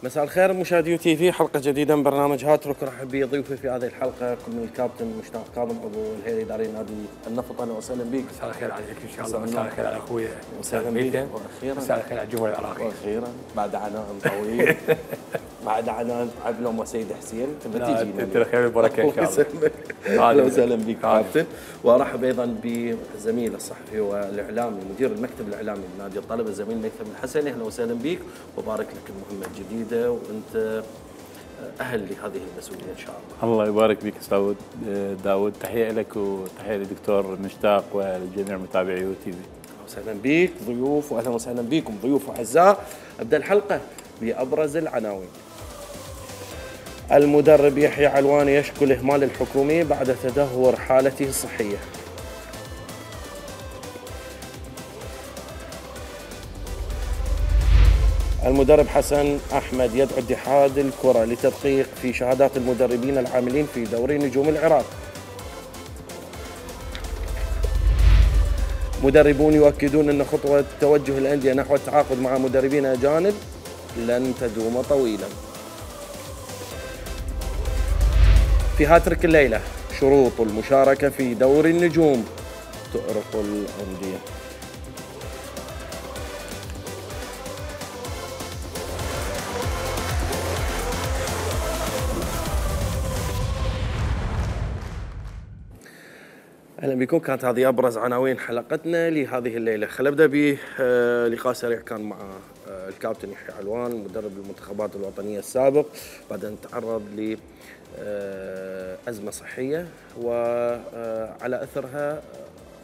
مساء الخير مشاهدي تي في، حلقة جديدة من برنامج هاترك. رحب بضيوفي في هذه الحلقة كل من الكابتن مشتاق كاظم عضو الهيئة الإدارية نادي النفط. أهلا وسهلا بك. مساء الخير عليك إن شاء الله. مساء الخير على أخوي وسهلا بك. وأخيرا مساء الخير على الجمهور العراقي. وأخيرا بعد عناء طويل بعد عناء عبلهم وسيد حسين تبى تجينا. انت الخير والبركة إن شاء الله. أهلا وسهلا بك كابتن. وأرحب أيضا بزميل الصحفي والإعلامي مدير المكتب الإعلامي لنادي الطلبة الزميل ميثم الحسني. أهلا وسهلا بك وبارك لك المهمة الجديدة وأنت أهل لهذه المسؤولية إن شاء الله. الله يبارك بك استاذ داود، تحية لك وتحية للدكتور مشتاق ولجميع متابعي يو تي في. أهلا وسهلا بك ضيوف وأهلا وسهلا بكم ضيوف أعزاء. أبدأ الحلقة بأبرز العناوين. المدرب يحيى علواني يشكو الإهمال الحكومي بعد تدهور حالته الصحية. المدرب حسن أحمد يدعو اتحاد الكرة لتدقيق في شهادات المدربين العاملين في دوري نجوم العراق. مدربون يؤكدون أن خطوة توجه الأندية نحو التعاقد مع مدربين أجانب لن تدوم طويلا. في هاترك الليلة، شروط المشاركة في دوري النجوم تؤرق الأندية. اهلا بكم. كانت هذه ابرز عناوين حلقتنا لهذه الليله. خلينا نبدا بلقاء سريع كان مع الكابتن يحيى علوان مدرب المنتخبات الوطنيه السابق بعد ان تعرض لازمه صحيه وعلى اثرها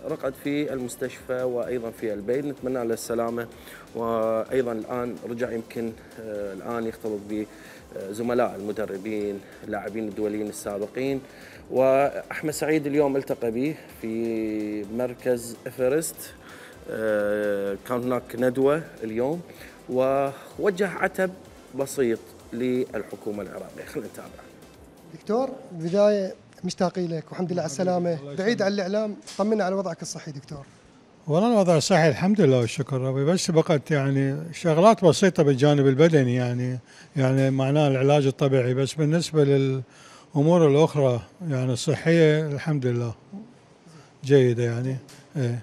رقد في المستشفى وايضا في البيت. نتمنى له السلامه وايضا الان رجع يمكن الان يختلط بزملاء المدربين اللاعبين الدوليين السابقين. وأحمد سعيد اليوم التقى به في مركز إفرست. كان هناك ندوة اليوم ووجه عتب بسيط للحكومة العراقية. خلينا نتابع. دكتور بداية مشتاقين لك والحمد لله على السلامة. بعيد عن الإعلام طمنا على وضعك الصحي دكتور. والله الوضع الصحي الحمد لله والشكر ربي، بس بقت يعني شغلات بسيطة بالجانب البدني يعني معناه العلاج الطبيعي، بس بالنسبة الأمور الأخرى يعني الصحية الحمد لله جيدة يعني. زين،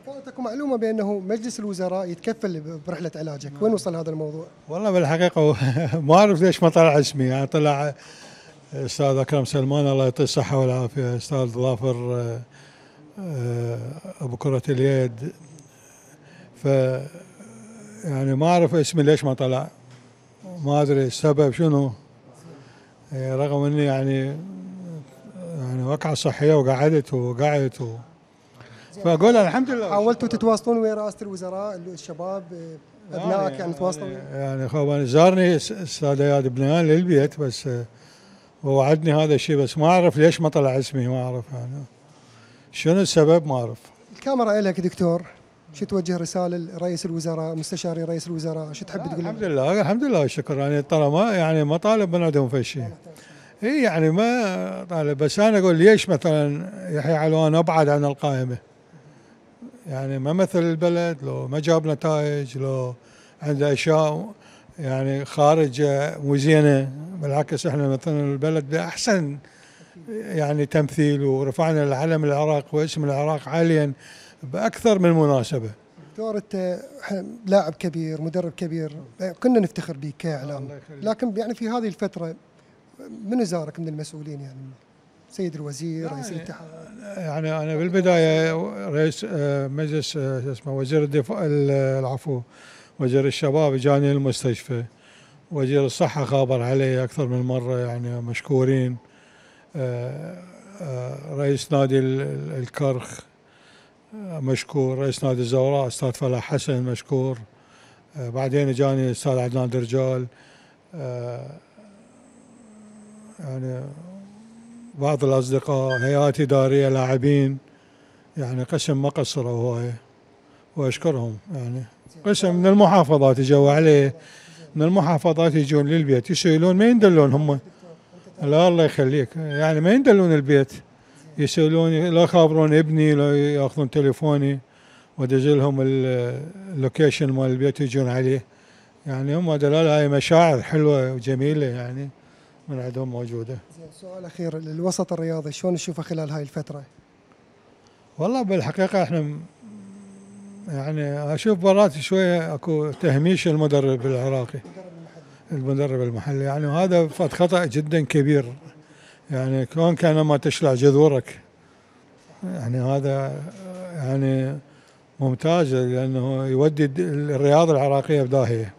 كانت اكو معلومة بأنه مجلس الوزراء يتكفل برحلة علاجك، وين وصل هذا الموضوع؟ والله بالحقيقة ما أعرف ليش ما طلع اسمي، يعني طلع أستاذ أكرم سلمان الله يعطيه الصحة والعافية، أستاذ ظافر أبو كرة اليد، يعني ما أعرف اسمي ليش ما طلع، ما أدري السبب شنو، رغم اني يعني وقعة صحية وقعدت فاقول الحمد لله. حاولتوا تتواصلون ويا رئاسة الوزراء الشباب ابنائك يعني تواصلوا؟ يعني هو زارني استاذ اياد بنيان للبيت بس ووعدني هذا الشيء، بس ما اعرف ليش ما طلع اسمي، ما اعرف يعني شنو السبب، ما اعرف. الكاميرا لك دكتور، شو توجه رسالة لرئيس الوزراء مستشاري رئيس الوزراء، شو تحب تقول؟ الحمد لله والشكر، يعني ترى ما طالب من عندهم في شيء. اي يعني ما طالب، بس انا اقول ليش مثلا يحيى علوان ابعد عن القائمة، يعني ما مثل البلد، لو ما جاب نتائج، لو عنده اشياء يعني خارج مو زينة، بالعكس احنا مثلا البلد باحسن يعني تمثيل، ورفعنا العلم العراق واسم العراق عاليا بأكثر من مناسبة. دكتور أنت لاعب كبير مدرب كبير كنا نفتخر بك كإعلام، لكن يعني في هذه الفترة من زارك من المسؤولين، يعني سيد الوزير رئيس الاتحاد؟ يعني أنا بالبداية رئيس مجلس اسمه وزير الدفاع العفو وزير الشباب جاني المستشفى، وزير الصحة خابر علي أكثر من مرة، يعني مشكورين. رئيس نادي الكرخ مشكور، رئيس نادي الزوراء استاذ فلاح حسن مشكور، بعدين جاني استاذ عدنان درجال، يعني بعض الاصدقاء، هيئات اداريه، لاعبين، يعني قسم ما قصروا هوايه واشكرهم. يعني قسم من المحافظات اجوا عليه، من المحافظات يجون للبيت يسألون ما يندلون هم، لا الله يخليك، يعني ما يندلون البيت، يسألوني، لا يخابرون ابني، لا ياخذون تليفوني وادز لهم اللوكيشن مال البيت يجون عليه، يعني هم دلالة هاي مشاعر حلوة وجميلة يعني من عندهم موجودة. سؤال أخير، الوسط الرياضي شلون نشوفه خلال هاي الفترة؟ والله بالحقيقة احنا يعني اشوف مرات شوية اكو تهميش المدرب العراقي، المدرب المحلي، يعني وهذا فد خطأ جدا كبير. يعني كون كان ما تشلع جذورك، يعني هذا يعني ممتاز، لانه يودي الرياضة العراقية بداهية.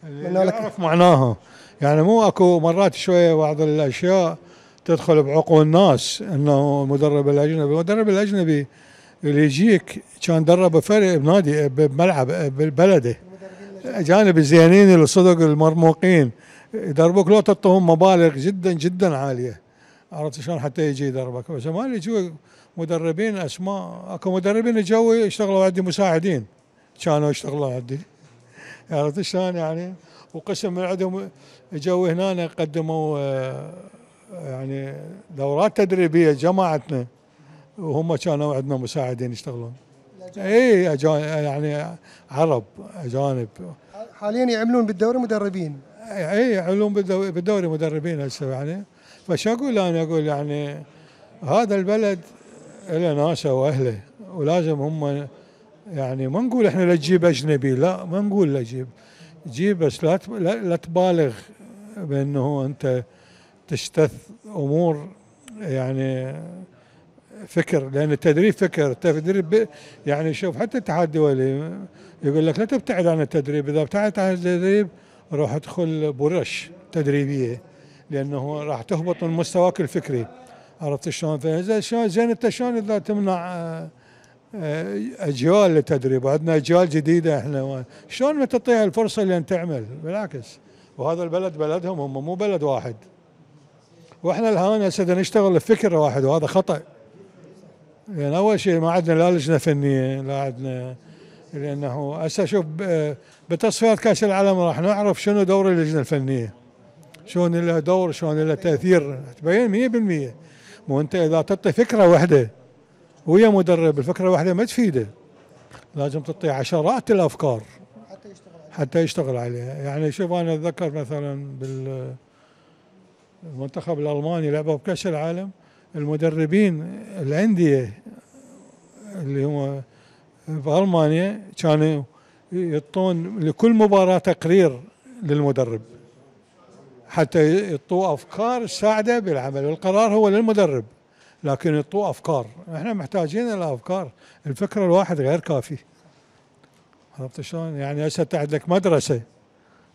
اللي يعرف معناها، يعني مو اكو مرات شوية بعض الاشياء تدخل بعقول الناس، انه المدرب الاجنبي اللي يجيك كان درب فريق بنادي بملعب ببلده، اجانب الزينين اللي صدق المرموقين يدربوك لو تعطوهم مبالغ جدا جدا عاليه، عرفت شلون، حتى يجي يدربك. بس ما يجوا مدربين اسماء، اكو مدربين جو يشتغلوا عندي مساعدين كانوا يشتغلوا عندي، عرفت شلون يعني. وقسم من عندهم جو هنا قدموا يعني دورات تدريبيه جماعتنا، وهم كانوا عندنا مساعدين يشتغلون. اي يعني عرب اجانب حاليا يعملون بالدوري مدربين. اي يعملون بالدوري مدربين هسه يعني. فشو اقول انا؟ اقول يعني هذا البلد له ناسه واهله، ولازم هم يعني ما نقول احنا لا تجيب اجنبي، لا ما نقول لا جيب بس لا تبالغ بانه انت تشتث امور يعني فكر، لان التدريب فكر، التدريب يعني شوف حتى الاتحاد الدولي يقول لك لا تبتعد عن التدريب، اذا ابتعدت عن التدريب روح ادخل برش تدريبيه، لانه راح تهبط من مستواك الفكري، عرفت شلون؟ فاذا شلون زين انت شلون اذا تمنع اجيال للتدريب، وعندنا اجيال جديده احنا، شلون ما تعطيها الفرصه لان تعمل؟ بالعكس، وهذا البلد بلدهم، هم مو بلد واحد، واحنا الان هسه نشتغل بفكر واحد، وهذا خطأ. يعني اول شيء ما عندنا لا لجنه فنيه، لا عندنا، لانه هسه شوف بتصفيات كاس العالم راح نعرف شنو دور اللجنه الفنيه، شلون له دور، شلون له تاثير، تبين 100%. مو انت اذا تعطي فكره واحده ويا مدرب، الفكره الواحده ما تفيده، لازم تعطي عشرات الافكار حتى يشتغل عليها. يعني شوف انا اتذكر مثلا بالمنتخب الالماني لعبوا بكاس العالم، المدربين الانديه اللي هم بألمانيا كانوا يعطون لكل مباراة تقرير للمدرب حتى يعطوه أفكار تساعده بالعمل، والقرار هو للمدرب لكن يعطوه أفكار. احنا محتاجين الأفكار، الفكرة الواحد غير كافي، عرفت شلون؟ يعني هسه عندك مدرسة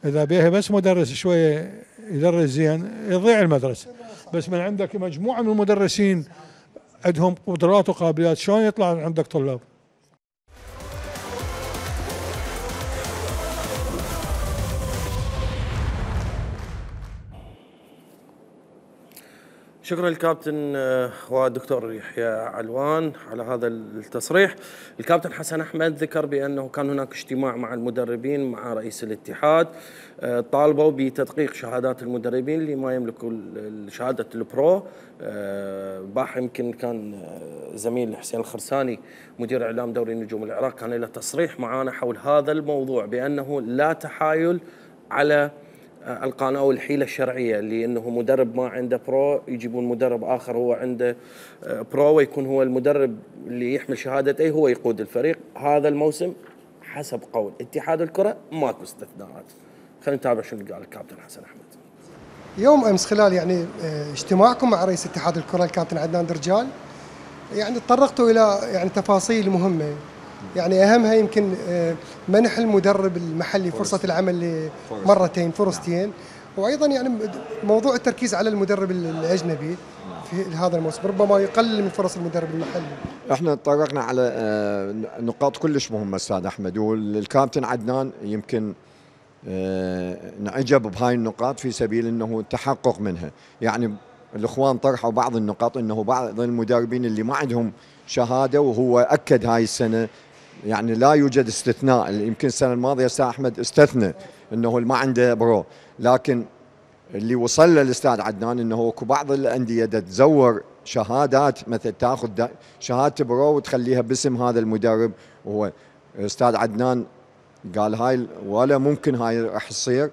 إذا بيها بس مدرس شوية يدرس زين يضيع المدرسة، بس من عندك مجموعة من المدرسين عندهم قدرات وقابليات، شلون يطلع عندك طلاب؟ شكرا للكابتن والدكتور يحيى علوان على هذا التصريح. الكابتن حسن أحمد ذكر بأنه كان هناك اجتماع مع المدربين مع رئيس الاتحاد، طالبوا بتدقيق شهادات المدربين اللي ما يملكوا شهادة البرو. باح يمكن كان زميل حسين الخرساني مدير إعلام دوري نجوم العراق كان له تصريح معنا حول هذا الموضوع، بأنه لا تحايل على القانون او الحيله الشرعيه، اللي انه مدرب ما عنده برو يجيبون مدرب اخر هو عنده برو، ويكون هو المدرب اللي يحمل شهاده اي هو يقود الفريق. هذا الموسم حسب قول اتحاد الكره ماكو استثناءات. خلينا نتابع شنو قال الكابتن حسن احمد. يوم امس خلال يعني اجتماعكم مع رئيس اتحاد الكره الكابتن عدنان درجال، يعني تطرقتوا الى يعني تفاصيل مهمه، يعني اهمها يمكن منح المدرب المحلي فرصه العمل مرتين فرصتين، وايضا يعني موضوع التركيز على المدرب الاجنبي في هذا الموسم ربما يقلل من فرص المدرب المحلي. احنا تطرقنا على نقاط كلش مهمه استاذ احمد، والكابتن عدنان يمكن نعجب بهاي النقاط في سبيل انه التحقق منها. يعني الاخوان طرحوا بعض النقاط، انه بعض المدربين اللي ما عندهم شهاده، وهو اكد هاي السنه يعني لا يوجد استثناء. يمكن السنه الماضيه استاذ احمد استثنى انه ما عنده برو، لكن اللي وصل له الاستاذ عدنان انه اكو بعض الانديه تزور شهادات، مثل تاخذ شهاده برو وتخليها باسم هذا المدرب. وهو استاذ عدنان قال هاي ولا ممكن هاي راح تصير،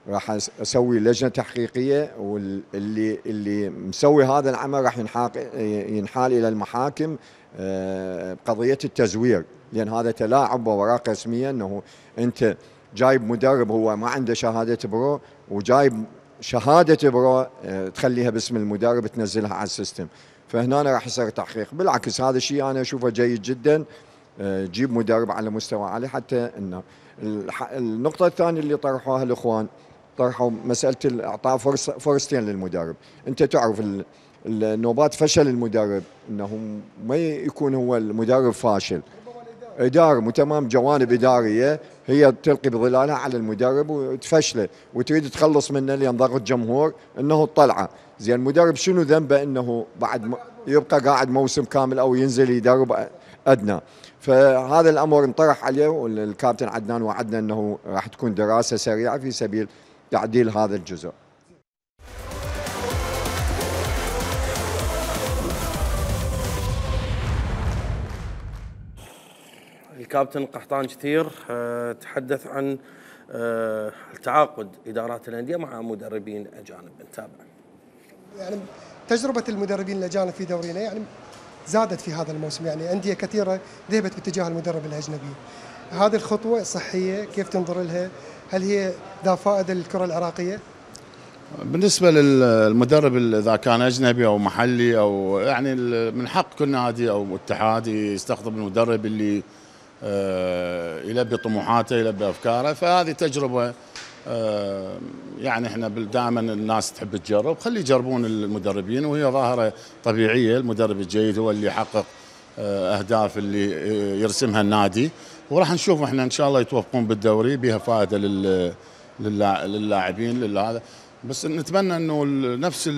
راح اسوي لجنه تحقيقيه، واللي مسوي هذا العمل راح ينحال الى المحاكم بقضيه التزوير، لان هذا تلاعب بأوراق رسميه، انه انت جايب مدرب هو ما عنده شهاده برو، وجايب شهاده برو تخليها باسم المدرب تنزلها على السيستم، فهنا راح يصير تحقيق. بالعكس هذا الشيء انا اشوفه جيد جدا، جيب مدرب على مستوى عالي. حتى انه النقطه الثانيه اللي طرحوها الاخوان، طرحوا مساله اعطاء فرصتين للمدرب. انت تعرف النوبات فشل المدرب انه ما يكون هو المدرب فاشل، إدارة تمام، جوانب إدارية هي تلقي بظلالها على المدرب وتفشله وتريد تخلص منه لأن ضغط جمهور انه الطلعه. زين المدرب شنو ذنبه انه بعد يبقى قاعد موسم كامل او ينزل يدرب ادنى؟ فهذا الامر انطرح عليه، والكابتن عدنان وعدنا انه راح تكون دراسه سريعه في سبيل تعديل هذا الجزء. الكابتن قحطان كثير تحدث عن تعاقد ادارات الانديه مع مدربين اجانب. نتابع. يعني تجربه المدربين الاجانب في دورينا يعني زادت في هذا الموسم، يعني انديه كثيره ذهبت باتجاه المدرب الاجنبي. هذه الخطوه صحيه؟ كيف تنظر لها؟ هل هي ذا فائده للكره العراقيه؟ بالنسبه للمدرب اذا كان اجنبي او محلي او يعني من حق كل نادي او اتحاد يستخدم المدرب اللي يلبي طموحاته يلبي افكاره، فهذه تجربه يعني احنا دائما الناس تحب تجرب، خلي يجربون المدربين وهي ظاهره طبيعيه. المدرب الجيد هو اللي يحقق اهداف اللي يرسمها النادي، وراح نشوف احنا ان شاء الله يتوفقون بالدوري بها فائده للاعبين لهذا. بس نتمنى انه نفس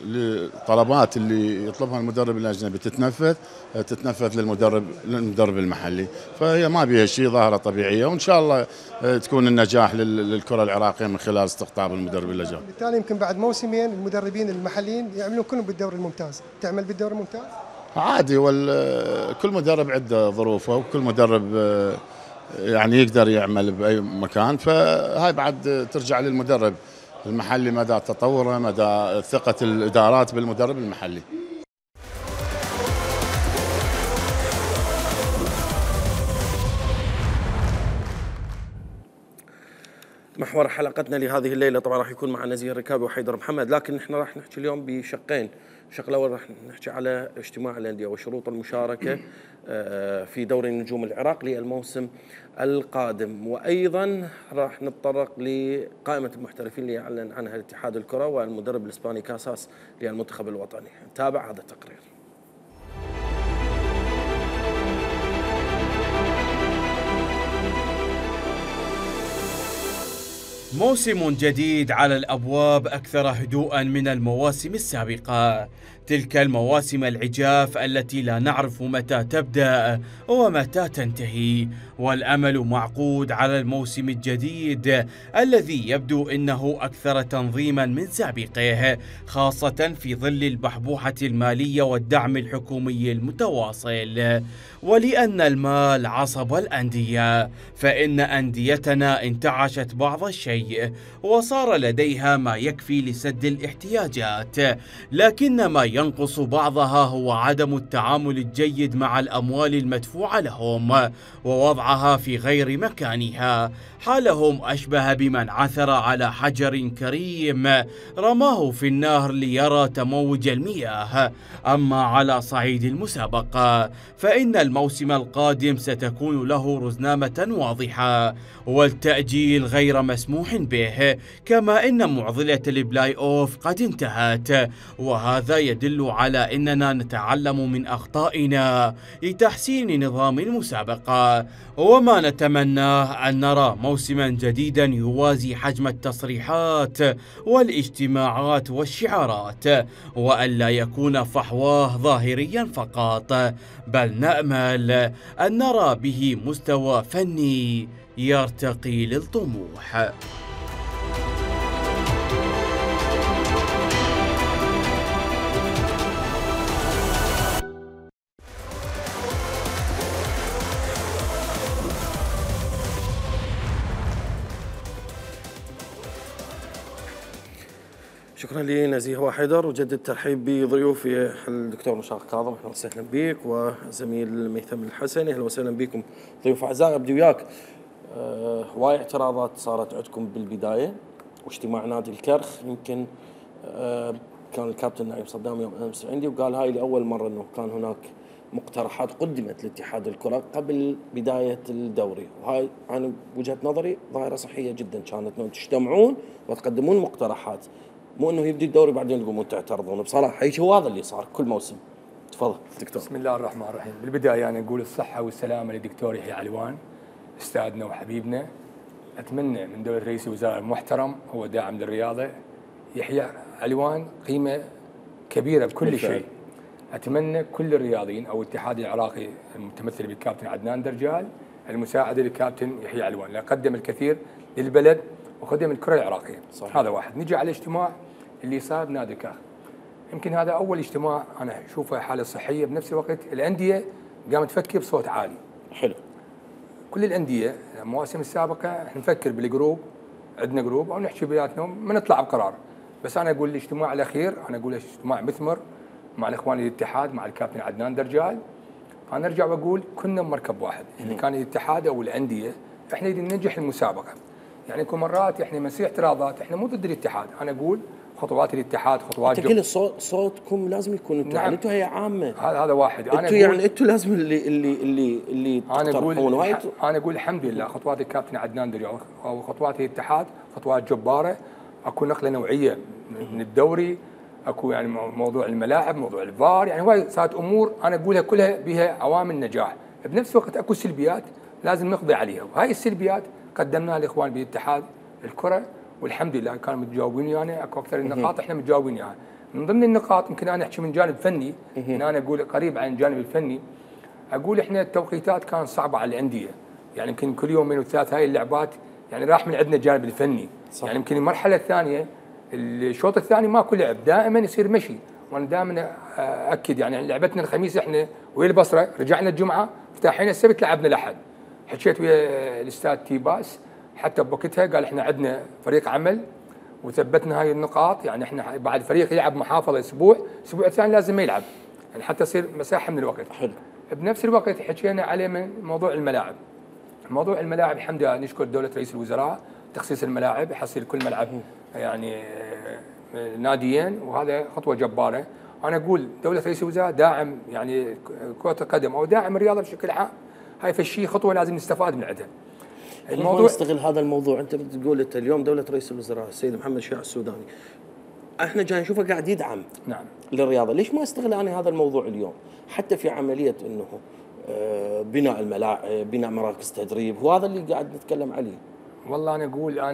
الطلبات اللي يطلبها المدرب الاجنبي تتنفذ للمدرب المحلي، فهي ما بها شيء، ظاهره طبيعيه، وان شاء الله تكون النجاح للكره العراقيه من خلال استقطاب المدرب الاجنبي. بالتالي يمكن بعد موسمين المدربين المحليين يعملون كلهم بالدوري الممتاز. تعمل بالدوري الممتاز؟ عادي، كل مدرب عنده ظروفه، وكل مدرب يعني يقدر يعمل بأي مكان، فهاي بعد ترجع للمدرب المحلي مدى تطوره، مدى ثقة الإدارات بالمدرب المحلي. محور حلقتنا لهذه الليلة طبعا راح يكون مع نزيه الركابي وحيدر محمد، لكن احنا راح نحكي اليوم بشقين. الشق الأول راح نحكي على اجتماع الأندية وشروط المشاركة في دوري النجوم العراق للموسم القادم، وأيضا راح نتطرق لقائمة المحترفين اللي أعلن عنها الاتحاد الكرة والمدرب الإسباني كاساس للمنتخب الوطني. نتابع هذا التقرير. موسم جديد على الأبواب أكثر هدوءا من المواسم السابقة، تلك المواسم العجاف التي لا نعرف متى تبدأ ومتى تنتهي، والأمل معقود على الموسم الجديد الذي يبدو أنه أكثر تنظيما من سابقه، خاصة في ظل البحبوحة المالية والدعم الحكومي المتواصل. ولأن المال عصب الأندية، فإن أنديتنا انتعشت بعض الشيء وصار لديها ما يكفي لسد الاحتياجات، لكن ما ينقص بعضها هو عدم التعامل الجيد مع الأموال المدفوعة لهم ووضعها في غير مكانها. حالهم أشبه بمن عثر على حجر كريم رماه في النهر ليرى تموج المياه. أما على صعيد المسابقة فإن الموسم القادم ستكون له رزنامة واضحة، والتأجيل غير مسموح به، كما إن معضلة البلاي أوف قد انتهت، وهذا يدل على أننا نتعلم من أخطائنا لتحسين نظام المسابقة. وما نتمناه أن نرى موسما جديدا يوازي حجم التصريحات والاجتماعات والشعارات، وألا يكون فحواه ظاهريا فقط، بل نأمل أن نرى به مستوى فني يرتقي للطموح. شكرا لي نزيه حيدر، وجدد الترحيب بضيوفي الدكتور مشتاق كاظم، اهلا وسهلا بك، وزميل ميثم الحسني، اهلا وسهلا بكم ضيوف اعزاء. ابدي وياك، هواي اعتراضات صارت عندكم بالبدايه واجتماع نادي الكرخ، يمكن كان الكابتن نايف صدام يوم امس عندي وقال هاي لاول مره انه كان هناك مقترحات قدمت لاتحاد الكره قبل بدايه الدوري، وهاي انا بوجهه نظري ظاهره صحيه جدا كانت، انه تجتمعون وتقدمون مقترحات، مو انه يبدي الدوري بعدين تقومون تعترضون. بصراحه هو هذا اللي صار كل موسم. تفضل دكتور. بسم الله الرحمن الرحيم. بالبدايه انا اقول الصحه والسلامه للدكتور يحيى علوان استاذنا وحبيبنا. اتمنى من دوله رئيس الوزراء المحترم هو داعم للرياضه، يحيى علوان قيمه كبيره بكل شيء. اتمنى كل الرياضيين او الاتحاد العراقي المتمثل بالكابتن عدنان درجال المساعده للكابتن يحيى علوان، لأنه قدم الكثير للبلد وخدم الكره العراقيه. صحيح. هذا واحد. نجي على الاجتماع اللي صار بنادي الكرخ. يمكن هذا اول اجتماع انا اشوفه حاله صحيه، بنفس الوقت الانديه قامت تفكر بصوت عالي. حلو. كل الانديه المواسم السابقه احنا نفكر بالجروب، عندنا جروب او نحكي بيناتنا ما نطلع بقرار، بس انا اقول الاجتماع الاخير انا اقول اجتماع مثمر مع الاخوان الاتحاد مع الكابتن عدنان درجال. انا ارجع واقول كنا بمركب واحد، اللي كان الاتحاد او الانديه احنا ننجح المسابقه. يعني كل مرات احنا مسيح اعتراضات، احنا مو ضد الاتحاد، انا اقول خطوات الاتحاد خطوات كل صوتكم لازم يكون انتم. نعم. انتم هي عامه. هذا واحد. انا انتم يعني انتم لازم اللي تقترحون. انا اقول الحمد لله خطوات الكابتن عدنان درجال او خطوات الاتحاد خطوات جباره. اكو نقله نوعيه من الدوري، اكو يعني موضوع الملاعب، موضوع الفار، يعني هواي صارت امور انا اقولها كلها بها عوامل نجاح. بنفس الوقت اكو سلبيات لازم نقضي عليها، وهاي السلبيات قدمناها الاخوان باتحاد الكره والحمد لله كانوا متجاوبين يعني اكو اكثر النقاط احنا متجاوبين يعني. من ضمن النقاط يمكن انا احكي من جانب فني، ان انا اقول قريب عن الجانب الفني، اقول احنا التوقيتات كانت صعبه على الانديه، يعني يمكن كل يومين وثلاث هاي اللعبات يعني راح من عندنا الجانب الفني. صح. يعني يمكن المرحله الثانيه الشوط الثاني ماكو لعب، دائما يصير مشي، وانا دائما اكد يعني لعبتنا الخميس احنا ويا البصره، رجعنا الجمعه افتتحنا السبت لعبنا الاحد. حكيت ويا الاستاذ تيباس حتى بوقتها قال احنا عندنا فريق عمل وثبتنا هاي النقاط، يعني احنا بعد فريق يلعب محافظه الاسبوع الثاني لازم ما يلعب، يعني حتى يصير مساحه من الوقت. حلو. بنفس الوقت حكينا عليه من موضوع الملاعب. موضوع الملاعب الحمد لله نشكر دوله رئيس الوزراء تخصيص الملاعب، يحصل كل ملعب يعني ناديين، وهذا خطوه جباره. انا اقول دوله رئيس الوزراء داعم يعني كره القدم او داعم الرياضه بشكل عام، هاي فالشيء خطوه لازم نستفاد من عندها. الموضوع نستغل هذا الموضوع، انت بتقول انت اليوم دوله رئيس الوزراء السيد محمد شيع السوداني احنا جاي نشوفه قاعد يدعم نعم للرياضه، ليش ما استغل انا هذا الموضوع اليوم حتى في عمليه انه بناء الملاعب، بناء مراكز تدريب، وهذا اللي قاعد نتكلم عليه. والله انا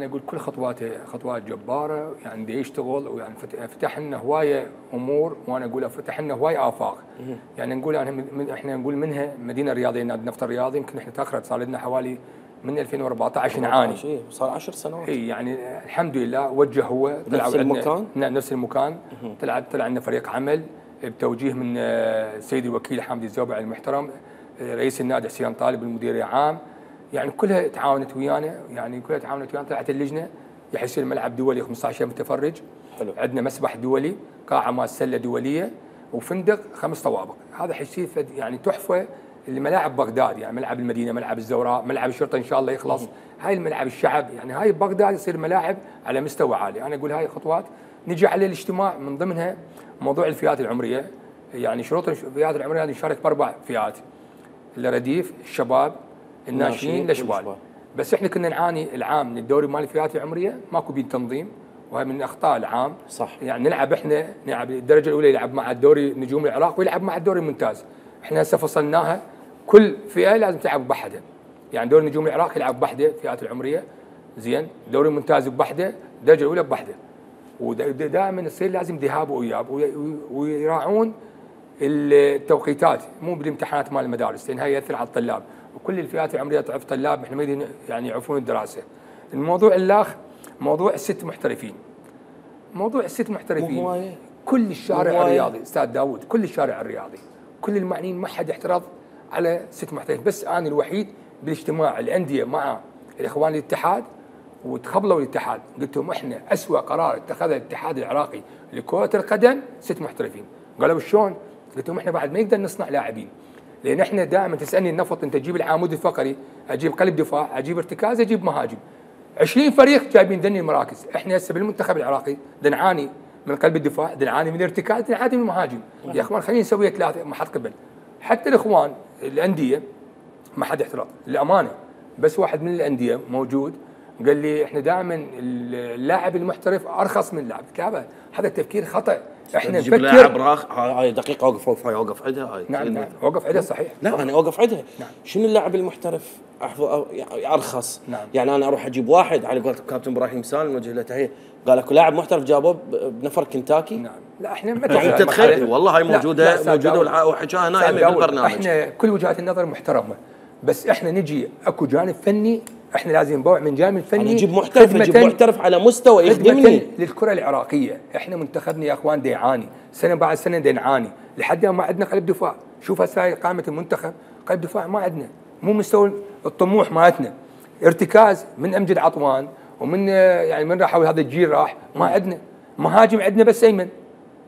اقول كل خطواته خطوات جباره، يعني بده يشتغل، ويعني فتح لنا هوايه امور، وانا اقول فتح لنا هوايه افاق. يعني نقول احنا نقول منها مدينه رياضيه، نادي النفط الرياضي، يمكن احنا تاخرت صار لنا حوالي من 2014 نعاني. صار 10 سنوات. اي يعني الحمد لله وجه هو نفس المكان؟ نعم نفس المكان. طلع لنا فريق عمل بتوجيه من السيد الوكيل حامد الزوبعي المحترم، رئيس النادي حسين طالب المدير العام، يعني كلها تعاونت ويانا، طلعت اللجنه يحصل ملعب دولي 15 متفرج. حلو. عندنا مسبح دولي، قاعه مال سله دوليه، وفندق 5 طوابق. هذا حيصير يعني تحفه لملاعب بغداد، يعني ملعب المدينه، ملعب الزوراء، ملعب الشرطه ان شاء الله يخلص. هاي الملعب الشعب، يعني هاي بغداد يصير ملاعب على مستوى عالي. انا اقول هاي خطوات. نجي على الاجتماع من ضمنها موضوع الفئات العمريه، يعني شروط الفئات العمريه هذه نشارك ب4 فئات، الرديف، الشباب، الناشئين، الاشبال. بس احنا كنا نعاني العام من الدوري مال الفئات العمريه ماكو بيه تنظيم، وهي من اخطاء العام. صح. يعني نلعب الدرجه الاولى يلعب مع الدوري نجوم العراق ويلعب مع الدوري الممتاز. احنا هسه فصلناها، كل فئه لازم تلعب بوحدها، يعني دوري نجوم العراق يلعب بوحده الفئات العمريه، زين، الدوري الممتاز بوحده، الدرجه الاولى بوحده. ودائما يصير لازم ذهاب واياب، ويراعون التوقيتات، مو بالامتحانات مال المدارس، لان هاي ياثر على الطلاب، وكل الفئات العمريه تعرف طلاب احنا ما يعني يعرفون الدراسه. الموضوع الاخ موضوع ال6 محترفين. موضوع ال6 محترفين كل الشارع الرياضي استاذ داوود، كل الشارع الرياضي، كل المعنيين ما حد اعترض على 6 محترفين، بس انا الوحيد بالاجتماع الانديه مع الاخوان الاتحاد وتخبلوا الاتحاد، قلت لهم احنا اسوء قرار اتخذه الاتحاد العراقي لكرة القدم 6 محترفين. قالوا شلون؟ قلت لهم احنا بعد ما نقدر نصنع لاعبين، لان احنا دائما تسالني النفط انت تجيب العمود الفقري، اجيب قلب دفاع، اجيب ارتكاز، اجيب مهاجم. 20 فريق جايبين ذني المراكز، احنا هسه بالمنتخب العراقي نعاني من قلب الدفاع، نعاني من الارتكاز، نعاني من المهاجم. يا اخوان خلينا نسوي 3 ما حد قبل. حتى الاخوان الانديه ما حد احترام للامانه، بس واحد من الانديه موجود قال لي احنا دائما اللاعب المحترف ارخص من اللاعب. هذا تفكير خطا. احنا نجيب نفكر لاعب هاي دقيقه اوقف هاي اوقف عندها هاي. نعم اوقف عندها صحيح. لا انا اوقف عندها. نعم. شنو اللاعب المحترف ارخص؟ نعم. يعني انا اروح اجيب واحد على قولة كابتن ابراهيم سالم نوجه له تحيه، قال اكو لاعب محترف جابوه بنفر كنتاكي. نعم. لا احنا ما تتخيل والله هاي موجوده وحكاها نايمه بالبرنامج. احنا كل وجهات النظر محترمه، بس احنا نجي اكو جانب فني، احنا لازم نبوع من جانب فني. نجيب محترف على مستوى يخدمني للكره العراقيه. احنا منتخبنا يا اخوان يعاني سنه بعد سنه نعاني لحد ما عندنا قلب دفاع. شوف هسه قائمه المنتخب قلب دفاع ما عندنا، مو مستوى الطموح مالتنا. ارتكاز من امجد عطوان ومن يعني من راح هذا الجيل راح ما عندنا. مهاجم عندنا بس ايمن،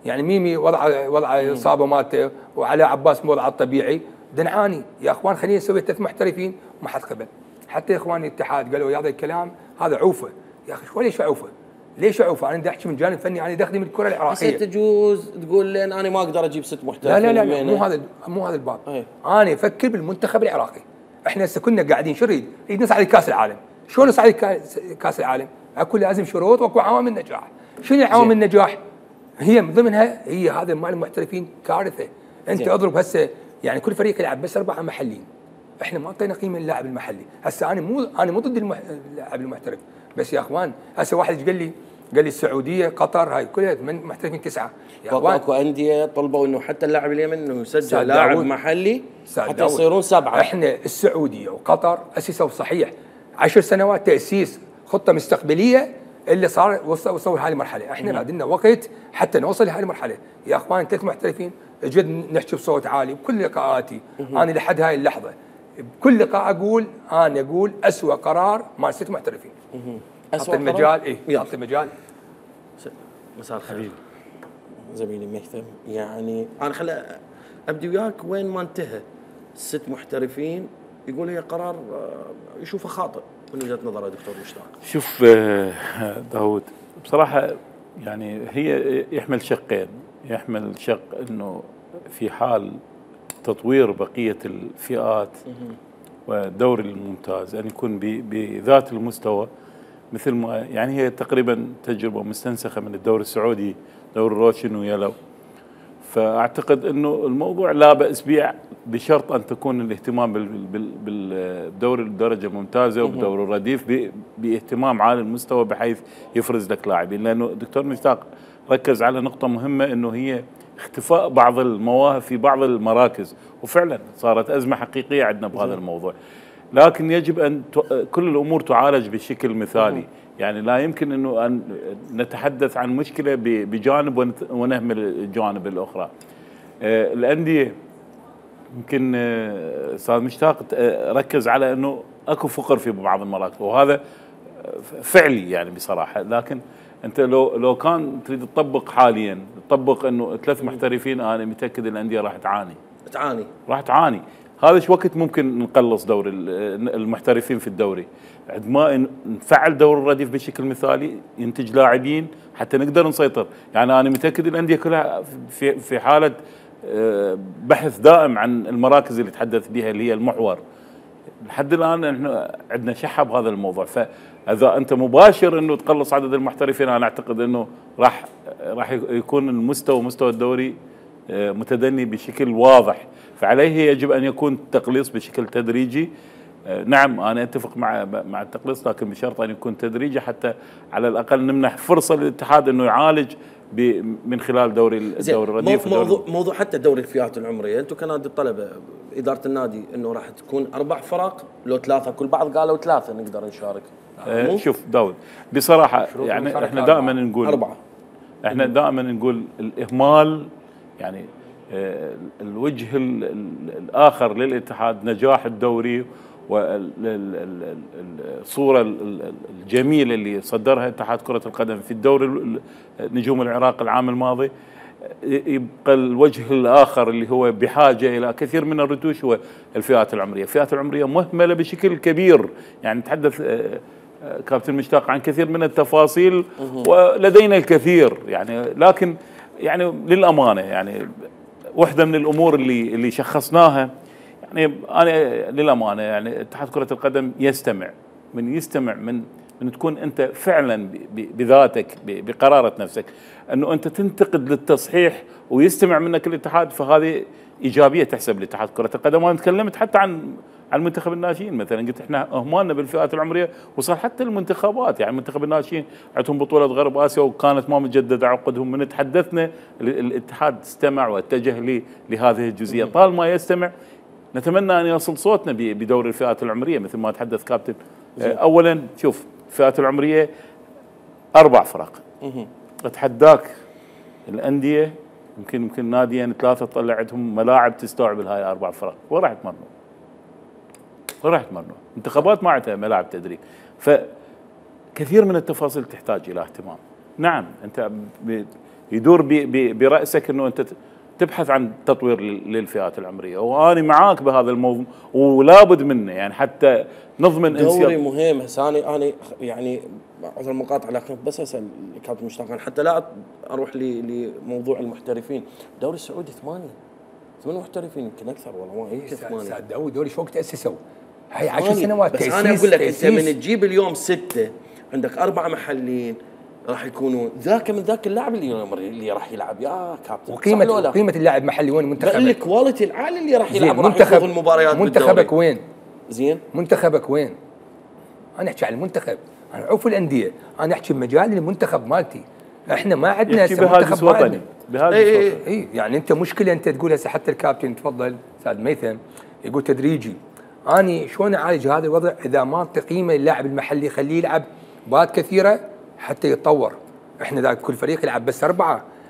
يعني ميمي وضع اصابه مالته وعلى عباس وضعه الطبيعي. نعاني يا اخوان، خلينا نسوي 3 محترفين ما حد قبل. حتى اخواني الاتحاد قالوا هذا الكلام هذا عوفه. يا اخي ليش عوفه؟ ليش عوفه؟ انا بدي احكي من جانب فني، انا دخلي من الكره العراقيه. تجوز تقول لين انا ما اقدر اجيب 6 محترفين. لا مو هذا الباب. انا افكر بالمنتخب العراقي. احنا هسه كنا قاعدين شو نريد نصعد كاس العالم. شلون نصعد كاس العالم؟ اكو لازم شروط واكو عوامل نجاح. شنو عوامل النجاح؟ هي من ضمنها هي هذا مال المحترفين كارثه. انت اضرب هسه يعني كل فريق يلعب بس 4 محليين. احنا ما اعطينا قيمه للاعب المحلي. هسه انا مو ضد اللاعب المحترف، بس يا اخوان هسه واحد قال لي السعوديه قطر هاي كلها من محترفين 9. يا اخوان اكو انديه طلبوا انه حتى اللاعب اليمن انه يسجل لاعب محلي حتى يصيرون 7. احنا السعوديه وقطر اسسوا صحيح 10 سنوات تاسيس خطه مستقبليه اللي صار وصلوا لهذه المرحله. احنا بعد لنا وقت حتى نوصل لهذه المرحله. يا اخوان 3 محترفين جد نحكي بصوت عالي بكل لقاءاتي. انا لحد هاي اللحظه بكل لقاء اقول اسوء قرار مال 6 محترفين. اسوء المجال يعطي المجال. مساء الخير زميلي مهثم. يعني انا خلي ابدي وياك وين ما انتهى 6 محترفين يقول هي قرار يشوفه خاطئ من وجهه نظره دكتور مشتاق. شوف داود بصراحه يعني هي يحمل شقين. يحمل شق انه في حال تطوير بقيه الفئات والدوري الممتاز ان يكون بذات المستوى مثل ما يعني هي تقريبا تجربه مستنسخه من الدوري السعودي دوري روشن ويلو. فاعتقد انه الموضوع لا باس به بشرط ان تكون الاهتمام بالدوري الدرجه الممتازه وبدوري الرديف باهتمام عالي المستوى بحيث يفرز لك لاعبين. لانه الدكتور مشتاق ركز على نقطه مهمه انه هي اختفاء بعض المواهب في بعض المراكز، وفعلا صارت ازمه حقيقيه عندنا بهذا الموضوع. لكن يجب ان كل الامور تعالج بشكل مثالي. يعني لا يمكن انه ان نتحدث عن مشكله بجانب ونهمل الجوانب الاخرى. الانديه يمكن استاذ مشتاق ركز على انه اكو فقر في بعض المراكز وهذا فعلي يعني بصراحه. لكن انت لو كان تريد تطبق حاليا تطبق انه 3 محترفين، انا متاكد الانديه راح تعاني. هذا ايش وقت ممكن نقلص دور المحترفين في الدوري؟ عندما نفعل دور الرديف بشكل مثالي ينتج لاعبين حتى نقدر نسيطر. يعني انا متاكد الانديه كلها في حاله بحث دائم عن المراكز اللي تحدث بها اللي هي المحور. لحد الان احنا عندنا شحه بهذا الموضوع. فاذا انت مباشر انه تقلص عدد المحترفين انا اعتقد انه راح يكون مستوى الدوري متدني بشكل واضح. فعليه يجب ان يكون التقليص بشكل تدريجي. نعم انا اتفق مع التقليص لكن بشرط ان يكون تدريجي حتى على الاقل نمنح فرصه للاتحاد انه يعالج من خلال دوري الرديف. موضوع حتى دوري الفئات العمريه، انتم كنادي الطلبه اداره النادي انه راح تكون 4 فرق لو 3 كل بعض قالوا 3 نقدر نشارك. شوف داود بصراحه يعني احنا دائما نقول 4. احنا دائما نقول الاهمال يعني الوجه الاخر للاتحاد نجاح الدوري والصوره الجميله اللي صدرها اتحاد كره القدم في الدوري نجوم العراق العام الماضي، يبقى الوجه الاخر اللي هو بحاجه الى كثير من الرتوش هو الفئات العمريه، الفئات العمريه مهمله بشكل كبير، يعني نتحدث كابتن مشتاق عن كثير من التفاصيل ولدينا الكثير يعني، لكن يعني للامانه يعني واحده من الامور اللي شخصناها، يعني انا للامانه يعني اتحاد كره القدم يستمع من تكون انت فعلا بذاتك بقراره نفسك انه انت تنتقد للتصحيح ويستمع منك الاتحاد، فهذه ايجابيه تحسب لاتحاد كره القدم. وانا تكلمت حتى عن منتخب الناشئين مثلا، قلت احنا اهمالنا بالفئات العمريه وصار حتى المنتخبات، يعني منتخب الناشئين عندهم بطوله غرب اسيا وكانت ما مجدده عقدهم، من تحدثنا الاتحاد استمع واتجه لهذه الجزئيه. طالما يستمع نتمنى ان يصل صوتنا بدور الفئات العمريه مثل ما تحدث كابتن. اولا شوف الفئات العمريه 4 فرق، اتحداك الانديه يمكن ناديين 3 تطلع عندهم ملاعب تستوعب هاي 4 فرق، وين راح يتمرنوا؟ انتخابات ما عندها ملاعب تدريب، فكثير من التفاصيل تحتاج الى اهتمام. نعم انت يدور براسك انه انت تبحث عن تطوير للفئات العمريه، وانا معاك بهذا الموضوع ولابد منه، يعني حتى نضمن دوري مهم. هسه انا يعني عذر المقاطعه لكن بس اسال كابتن مشتاق حتى لا اروح لموضوع المحترفين. الدوري السعودي 8 محترفين يمكن اكثر والله ما يمكن 8. دوري شو وقت تاسسوا؟ هاي 10 سنوات بس انا اقول لك انت من تجيب اليوم 6 عندك 4 محلين راح يكونوا ذاك من ذاك اللاعب اللي راح يلعب يا كابتن. وقيمه اللاعب محلي وين؟ منتخبك الكواليتي العالي اللي راح يلعب راح ياخذ المباريات. منتخبك وين؟ زين منتخبك وين؟ انا احكي عن المنتخب، انا عوف الانديه، انا احكي بمجال المنتخب مالتي. احنا ما عندنا منتخب وطني بهذا اي يعني انت مشكله انت تقول هسه حتى الكابتن تفضل استاذ ميثم يقول تدريجي. اني شلون اعالج هذا الوضع اذا ما اعطي قيمه للاعب المحلي، خليه يلعب مباريات كثيره حتى يتطور. احنا ذاك كل فريق يلعب بس 4،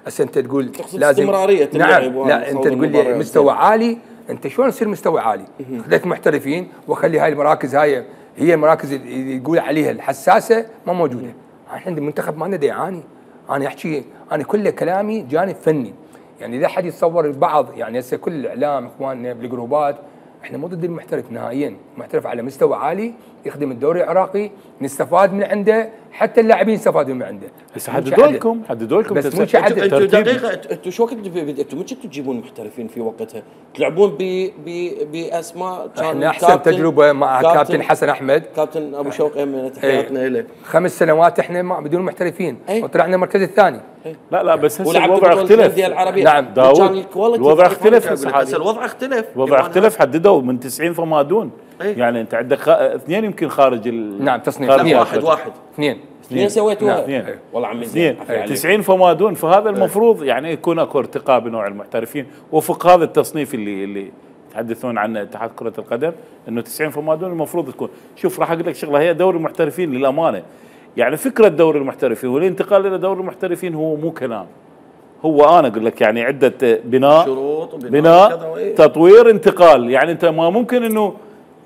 هسه انت تقول لازم استمراريه. نعم لا انت تقول لي مستوى عالي، انت شلون يصير مستوى عالي؟ خليك محترفين واخلي هاي المراكز هاي هي المراكز اللي يقول عليها الحساسه ما موجوده. احنا عندنا منتخب ما لنا يعاني. انا احكي انا كل كلامي جانب فني، يعني اذا حد يتصور البعض يعني هسه كل الاعلام اخواننا بالجروبات احنا مو ضد المحترف نهائيا، محترف على مستوى عالي يخدم الدوري العراقي نستفاد من عنده، حتى اللاعبين يستفادون من عنده. بس حددوا لكم بس مو عدل. انتوا دقيقه انتوا شو وقت انتوا متى تجيبون محترفين في وقتها؟ تلعبون باسماء احنا احسن تجربه مع كابتن حسن احمد، كابتن ابو شوقي من تحياتنا له. 5 سنوات احنا بدون محترفين وطلعنا المركز الثاني. لا بس هسه الوضع اختلف. نعم داود الوضع اختلف هسه الوضع اختلف. الوضع اختلف حددوا من 90 فما دون. يعني انت عندك 2 يمكن خارج نعم تصنيف. واحد 2 سويتوها. والله عمي 2 90 فما دون، فهذا المفروض يعني يكون اكو ارتقاء بنوع المحترفين وفق هذا التصنيف اللي يتحدثون عنه اتحاد كرة القدم، انه 90 فما دون المفروض تكون. شوف راح اقول لك شغله، هي دوري المحترفين للامانه يعني فكره دوري المحترفين والانتقال الى دوري المحترفين هو مو كلام، هو انا اقول لك يعني عده بناء تطوير انتقال. يعني انت ما ممكن انه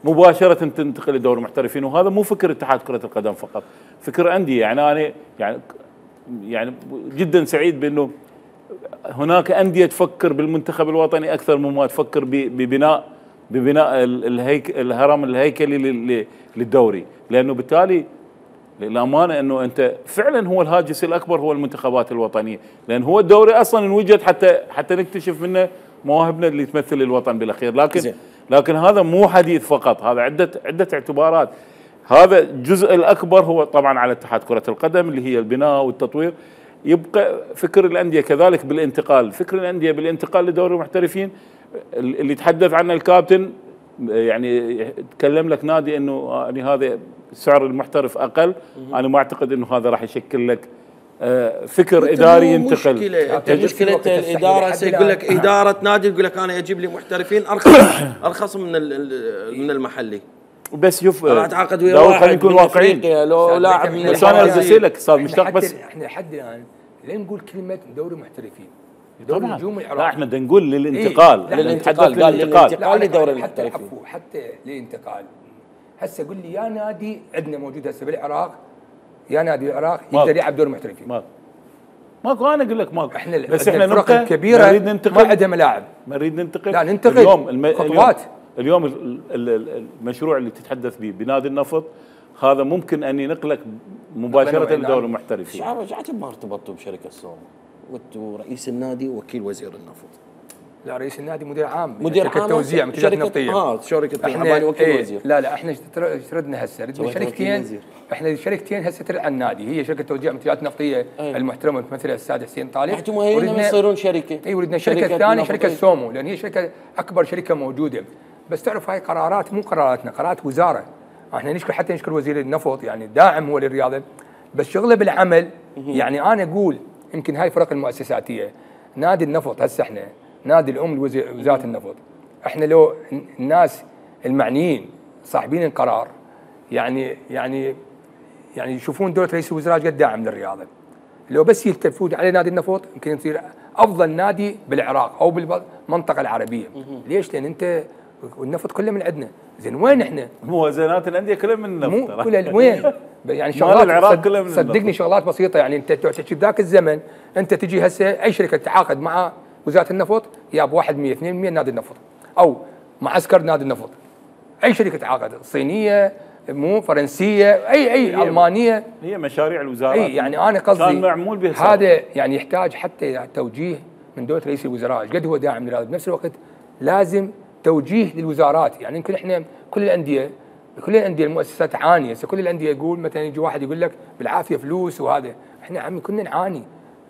مباشره تنتقل لدوري المحترفين، وهذا مو فكر اتحاد كره القدم فقط، فكر انديه. يعني انا يعني جدا سعيد بانه هناك انديه تفكر بالمنتخب الوطني اكثر مما تفكر ببناء الهرم الهيكلي للدوري، لانه بالتالي للامانه انه انت فعلا هو الهاجس الاكبر هو المنتخبات الوطنيه، لان هو الدوري اصلا انوجد حتى نكتشف منه مواهبنا اللي تمثل الوطن بالاخير. لكن هذا مو حديث فقط، هذا عده اعتبارات. هذا الجزء الاكبر هو طبعا على اتحاد كره القدم اللي هي البناء والتطوير. يبقى فكر الانديه كذلك بالانتقال، فكر الانديه بالانتقال لدوري المحترفين اللي تحدث عنه الكابتن. يعني تكلم لك نادي انه يعني هذا سعر المحترف اقل، انا ما اعتقد انه هذا راح يشكل لك فكر اداري ينتقل. مشكله الاداره يقول لك اداره نادي يقول لك انا اجيب لي محترفين ارخص من المحلي. بس شوف انا اتعاقد ويا واحد خلينا نكون واقعيين. لو لاعب من بس انا ارسل لك استاذ مشتاق، بس احنا لحد الان لين نقول كلمه دوري محترفين دوري نجوم العراق. لا احنا بدنا نقول للانتقال. للانتقال قال للانتقال لدوري المحترفين. حتى للانتقال هسه قول لي يا نادي عندنا موجود هسه بالعراق، يا نادي العراق يقدر يلعب دور المحترفين. ماكو، انا اقول لك ماكو. احنا بس احنا الفرق الكبيره نريد ننتقل، ما عندها ملاعب. ما نريد ننتقل، لا ننتقل خطوات. اليوم المشروع اللي تتحدث به بنادي النفط هذا ممكن ان ينقلك مباشره لدور المحترفين. رجعت ما ارتبطتوا بشركه السوم؟ وانتوا رئيس النادي ووكيل وزير النفط. لا رئيس النادي مدير عام، مدير شركه توزيع منتجات نفطيه. شركه احنا وكيل وزير. لا احنا ردنا هسه ردنا شركتين. احنا شركتين هسه ترعى النادي، هي شركه توزيع منتجات نفطيه المحترمه تمثلها الاستاذ حسين طالب. انتم هي يصيرون شركه. اي وردنا شركه ثانيه شركه سومو، لان هي شركه اكبر شركه موجوده. بس تعرف هاي قرارات مو قراراتنا، قرارات وزاره. احنا نشكر حتى نشكر وزير النفط يعني داعم هو للرياضه، بس شغله بالعمل. يعني انا اقول يمكن هاي الفرق المؤسساتيه، نادي النفط هسه احنا نادي الام لوزاره النفط، احنا لو الناس المعنيين صاحبين القرار يعني يشوفون دوله رئيس الوزراء قد داعم للرياضه، لو بس يلتفون على نادي النفط يمكن يصير افضل نادي بالعراق او بالمنطقه العربيه. ليش؟ لان انت والنفط كله من عندنا، زين وين احنا؟ موازنات الانديه كلها من النفط، مو كلها وين؟ يعني شغلات صدقني شغلات بسيطه. يعني انت تحكي بذاك الزمن انت تجي هسه اي شركه تتعاقد مع وزاره النفط ياب 1% 2% نادي النفط، او معسكر نادي النفط. اي شركه تتعاقد صينيه مو فرنسيه اي المانيه، هي مشاريع الوزاره. اي يعني انا قصدي كان معمول به هذا يعني يحتاج حتى توجيه من دوله رئيس الوزراء قد هو داعم لهذا، بنفس الوقت لازم توجيه للوزارات. يعني يمكن احنا كل الانديه المؤسسات تعاني، هسه كل الانديه يقول مثلا يجي واحد يقول لك بالعافيه فلوس وهذا، احنا عمي كنا نعاني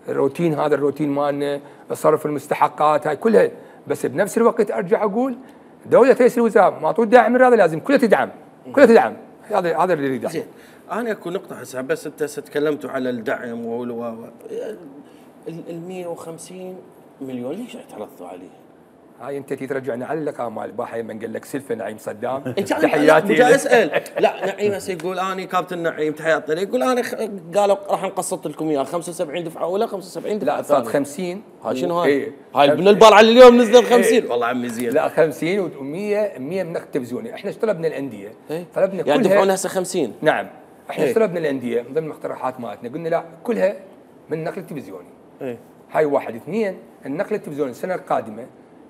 الروتين، هذا الروتين مالنا صرف المستحقات هاي كلها. بس بنفس الوقت ارجع اقول دوله رئيس الوزراء ما تعود داعم لهذا، لازم كلها تدعم كلها تدعم. هذا اللي يريد. زين انا اكو نقطه هسه بس انت تكلمتوا على الدعم ال 150 مليون ليش اعترضتوا عليه؟ هاي انت ترجعني على اللقاء مال الباحه من قال لك سلفه نعيم صدام. تحياتي. جاي اسال لا نعيم هسه يقول انا كابتن نعيم تحياتي، يقول انا قالوا راح نقسط لكم اياه 75 دفعه اولى 75 دفعه لا صارت 50. هاي شنو هاي؟ هاي ابن البال على اليوم نزل 50. والله عمي زين. لا 50 و100 من نقد تلفزيوني. احنا طلبنا الانديه طلبنا كلها يعني دفعونا هسه 50. نعم احنا طلبنا الانديه من ضمن المقترحات مالتنا قلنا لا كلها من نقل تلفزيوني. هاي واحد. اثنين النقل التلفزيوني السنه القادمه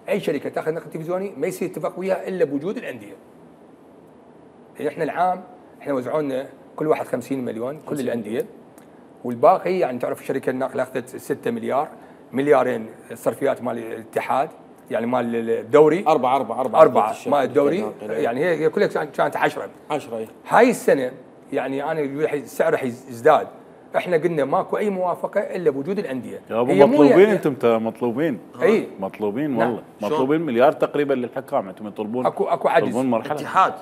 اي شركه تاخذ نقل تلفزيوني ما يصير اتفاق وياها الا بوجود الانديه. يعني احنا العام احنا وزعوا لنا كل واحد 50 مليون كل الانديه، والباقي يعني تعرف الشركه الناقله اخذت 6 مليار، مليارين الصرفيات مال الاتحاد يعني مال الدوري 4 مال الدوري، يعني هي كلها كانت 10 هاي السنه. يعني انا السعر راح يزداد. احنا قلنا ماكو اي موافقه الا بوجود الانديه. هي مطلوبين انتم ترى مطلوبين. اي مطلوبين والله. نعم. مطلوبين مليار تقريبا للحكام، انتم يطلبون اكو عجز. يطلبون مرحله اتحاد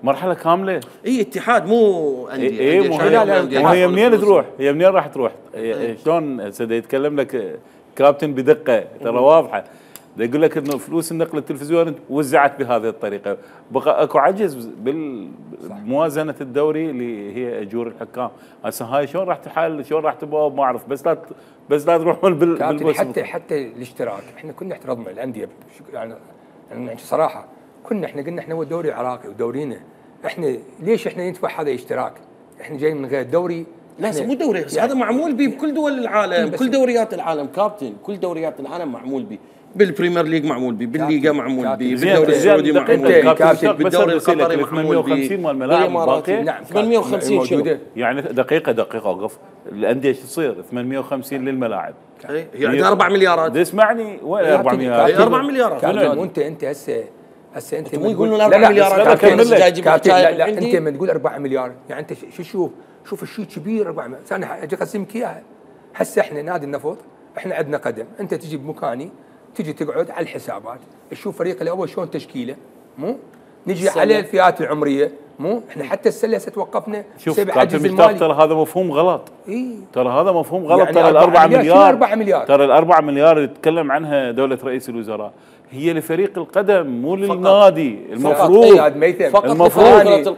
مرحله كامله. اي اتحاد مو انديه. هي منين تروح؟ هي منين راح تروح؟ شلون سيدي يتكلم لك كابتن بدقه ترى واضحه، يقول لك انه فلوس النقل التلفزيوني وزعت بهذه الطريقه، بقى اكو عجز بالموازنه الدوري اللي هي اجور الحكام. هسه هاي شلون راح تحل؟ شلون راح تبوظ؟ ما اعرف. بس لا تروحون بالموسم. حتى الاشتراك احنا كنا احترضنا الانديه يعني صراحه احنا قلنا احنا هو دوري عراقي ودورينا، احنا ليش احنا ندفع هذا اشتراك؟ احنا جايين من غير دوري. لا مو دوري يعني هذا معمول به بكل دول العالم، كل دوريات العالم كابتن، كل دوريات العالم معمول به، بالبريمير ليج معمول به، بالليغا معمول به، بالدوري السعودي معمول به، بالدوري القطري معمول به. 850 مال الملاعب باقي. نعم 850 شنو؟ يعني دقيقه وقف. الانديه شو تصير 850 للملاعب؟ هي عندها 4 مليارات. اسمعني وين 4 مليارات؟ 4 مليارات. وانت هسه انت مو يقولون 4 مليارات لا انت من تقول 4 مليار يعني انت شوف الشيء كبير 4 مليار. انا اجي اقسمك اياها. هسه احنا نادي النفط احنا عندنا قدم، انت تجي بمكاني تجي تقعد على الحسابات تشوف فريق الاول شلون تشكيله، مو نجي على الفئات العمريه، مو احنا حتى السله توقفنا بسبب عجز المالي. ترى هذا مفهوم غلط. ترى هذا مفهوم غلط. يعني ترى ال 4 مليار ترى ال 4 مليار اللي تتكلم عنها دوله رئيس الوزراء هي لفريق القدم مو للنادي. المفروض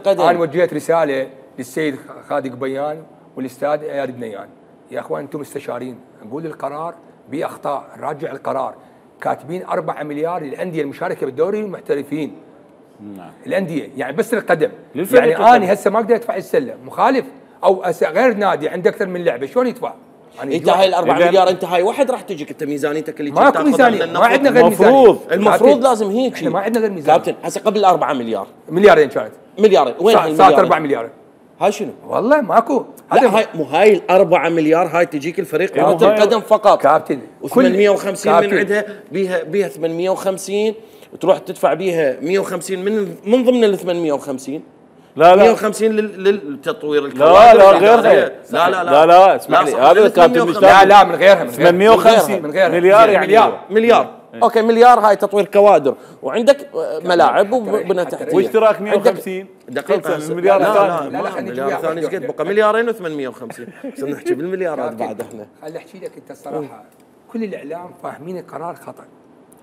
انا وجهت رساله للسيد خالد قبيان والاستاذ اياد بنيان، يا اخوان انتم مستشارين، نقول القرار باخطاء، نراجع القرار. كاتبين 4 مليار للانديه المشاركه بالدوري المحترفين، نعم. الانديه يعني بس القدم. للفريق يعني القدم. انا هسه ما اقدر ادفع السله مخالف، او غير نادي عنده اكثر من لعبه شلون يدفع؟ يعني انت هاي ال4 مليار انت هاي واحد راح تجيك انت ميزانيتك اللي ماكو تاخذها ميزانيه، من ما عندنا النفط. غير ميزانيه. المفروض لازم هيك. احنا ما عندنا غير ميزانيه كابتن هسه قبل 4 مليار مليارين كانت مليارين وين صارت هالمليارين؟ 4 مليار. هاي شنو؟ والله ماكو. لا هاي مو هاي ال4 مليار هاي تجيك الفريق كرة القدم فقط كابتن و850 من عندها بيها 850 وتروح تدفع بيها 150 من ضمن ال 850 لا 150 للتطوير لا غيرها لا اسمع لي هذا كابتن لا من غيرها 850 مليار يعني مليار اوكي مليار هاي تطوير كوادر وعندك ملاعب وبنى تحتيه واشتراك 150 دقيقة المليار الثاني لا المليار الثاني ايش قد بقى مليارين و850 بس نحكي بالمليارات بعد احنا خليني احكي لك انت الصراحه كل الاعلام فاهمين القرار خطا.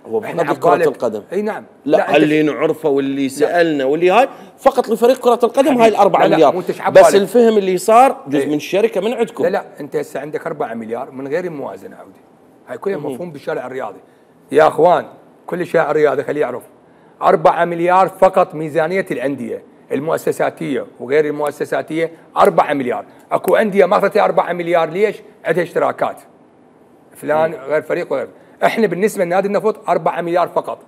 هو فقط كرة القدم. اي نعم. لا اللي نعرفه واللي سالنا واللي هاي فقط لفريق كرة القدم هاي ال4 مليار بس الفهم اللي صار جزء من الشركة من عندكم. لا انت هسه عندك 4 مليار من غير الموازنة عودي. هاي كلها مفهوم بالشارع الرياضي. يا اخوان كل شارع الرياضي خليه يعرف 4 مليار فقط ميزانية الأندية المؤسساتية وغير المؤسساتية 4 مليار. اكو أندية ما اخذت 4 مليار ليش؟ عندها اشتراكات. فلان غير فريق وغير. احنا بالنسبه لنادي النفط 4 مليار فقط.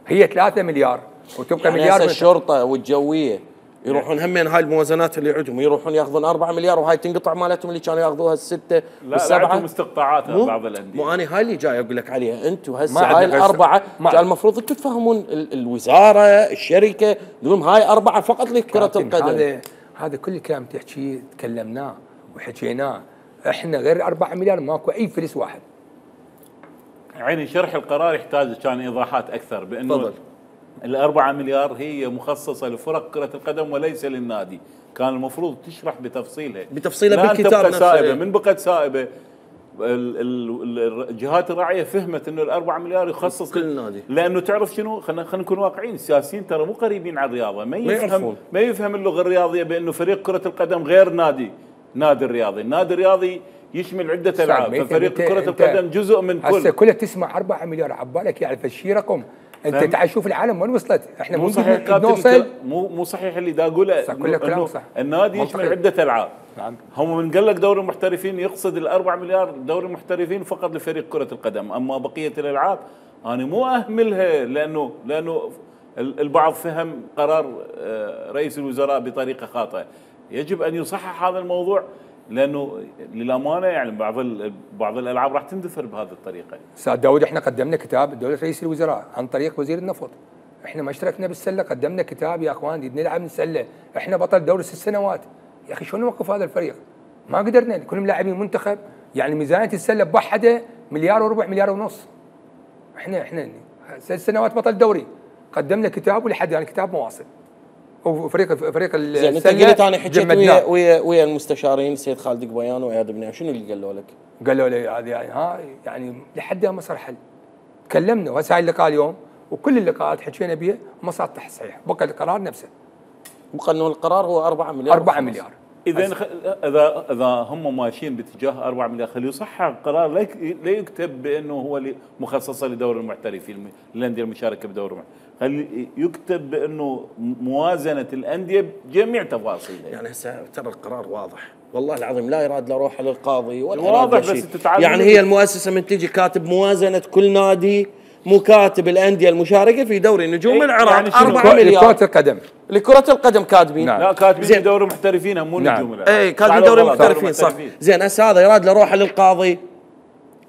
هي 3 مليار وتبقى يعني مليار. الشرطه والجويه يروحون همين هاي الموازنات اللي عندهم يروحون ياخذون 4 مليار وهاي تنقطع مالتهم اللي كانوا ياخذوها السته والسبعه. لا مستقطعات بعض الانديه. مو انا هاي اللي جاي اقول لك عليها انتم هسه هاي الاربعه كان المفروض انتم تفهمون الوزاره الشركه تقولون هاي 4 فقط لكره القدم. هذا كل كلام تحكيه تكلمناه وحكيناه. احنا غير 4 مليار ماكو اي فلس واحد. عيني شرح القرار يحتاج كان ايضاحات اكثر بانه ال4 مليار هي مخصصه لفرق كره القدم وليس للنادي، كان المفروض تشرح بتفصيلها بالكتاب نفسه. من بقت سائبه الجهات الراعيه فهمت انه ال4 مليار يخصص كل نادي، لانه تعرف شنو خلينا نكون واقعيين، السياسيين ترى مو قريبين على الرياضه، ما يفهم اللغه الرياضيه بانه فريق كره القدم غير نادي النادي الرياضي يشمل عدة ألعاب، ففريق كرة القدم جزء من كل. هسه كلها تسمع 4 مليار عبالك يعرف الشيء رقم. انت تعال شوف العالم وين وصلت، احنا مو صحيح نوصل. مو صحيح اللي دا اقوله انه النادي يشمل عدة ألعاب. نعم. هم من قال لك دوري المحترفين يقصد ال4 مليار دوري المحترفين فقط لفريق كرة القدم، اما بقية الألعاب انا مو اهملها لانه البعض فهم قرار رئيس الوزراء بطريقة خاطئة. يجب ان يصحح هذا الموضوع لانه للامانه يعني بعض الالعاب راح تندثر بهذه الطريقه. استاذ داود احنا قدمنا كتاب لدوله رئيس الوزراء عن طريق وزير النفط. احنا ما اشتركنا بالسله، قدمنا كتاب يا اخوان نلعب السله، احنا بطل دوري 6 سنوات. يا اخي شلون نوقف هذا الفريق؟ ما قدرنا، كلهم لاعبين منتخب، يعني ميزانيه السله بوحدها مليار وربع مليار ونص. احنا 6 سنوات بطل دوري، قدمنا كتاب ولحد يعني كتاب مواصل. وفريق السله زين انت قلت انا حكيت ويا المستشارين السيد خالد قبيان وعياد بنيان، شنو اللي قالوا لك؟ قالوا لي هذه يعني لحد ما صار حل. تكلمنا وهسه هاي اللقاء اليوم وكل اللقاءات حكينا بها وما صار تصحيح، بقى القرار نفسه. بقى انه القرار هو 4 مليار. 4 مليار. اذا هم ماشيين باتجاه 4 مليار خليه يصحح القرار، لا يكتب بانه هو مخصصه لدور المحترفين الانديه المشاركه بدور المحترفين، خلي يكتب بانه موازنه الانديه بجميع تفاصيلها. يعني هسه ترى القرار واضح والله العظيم، لا يراد لا روح للقاضي ولا واضح بس تتعلم. يعني هي المؤسسه من تجي كاتب موازنه كل نادي، مكاتب الانديه المشاركه في دوري نجوم العراق يعني 4 مليار لكرة القدم. لكرة القدم كاتبين. نعم. لا كاتبين دوري محترفين مو نعم. نجوم العراق. اي كاتبين دوري محترفين صح. زين هسه هذا يراد له روح للقاضي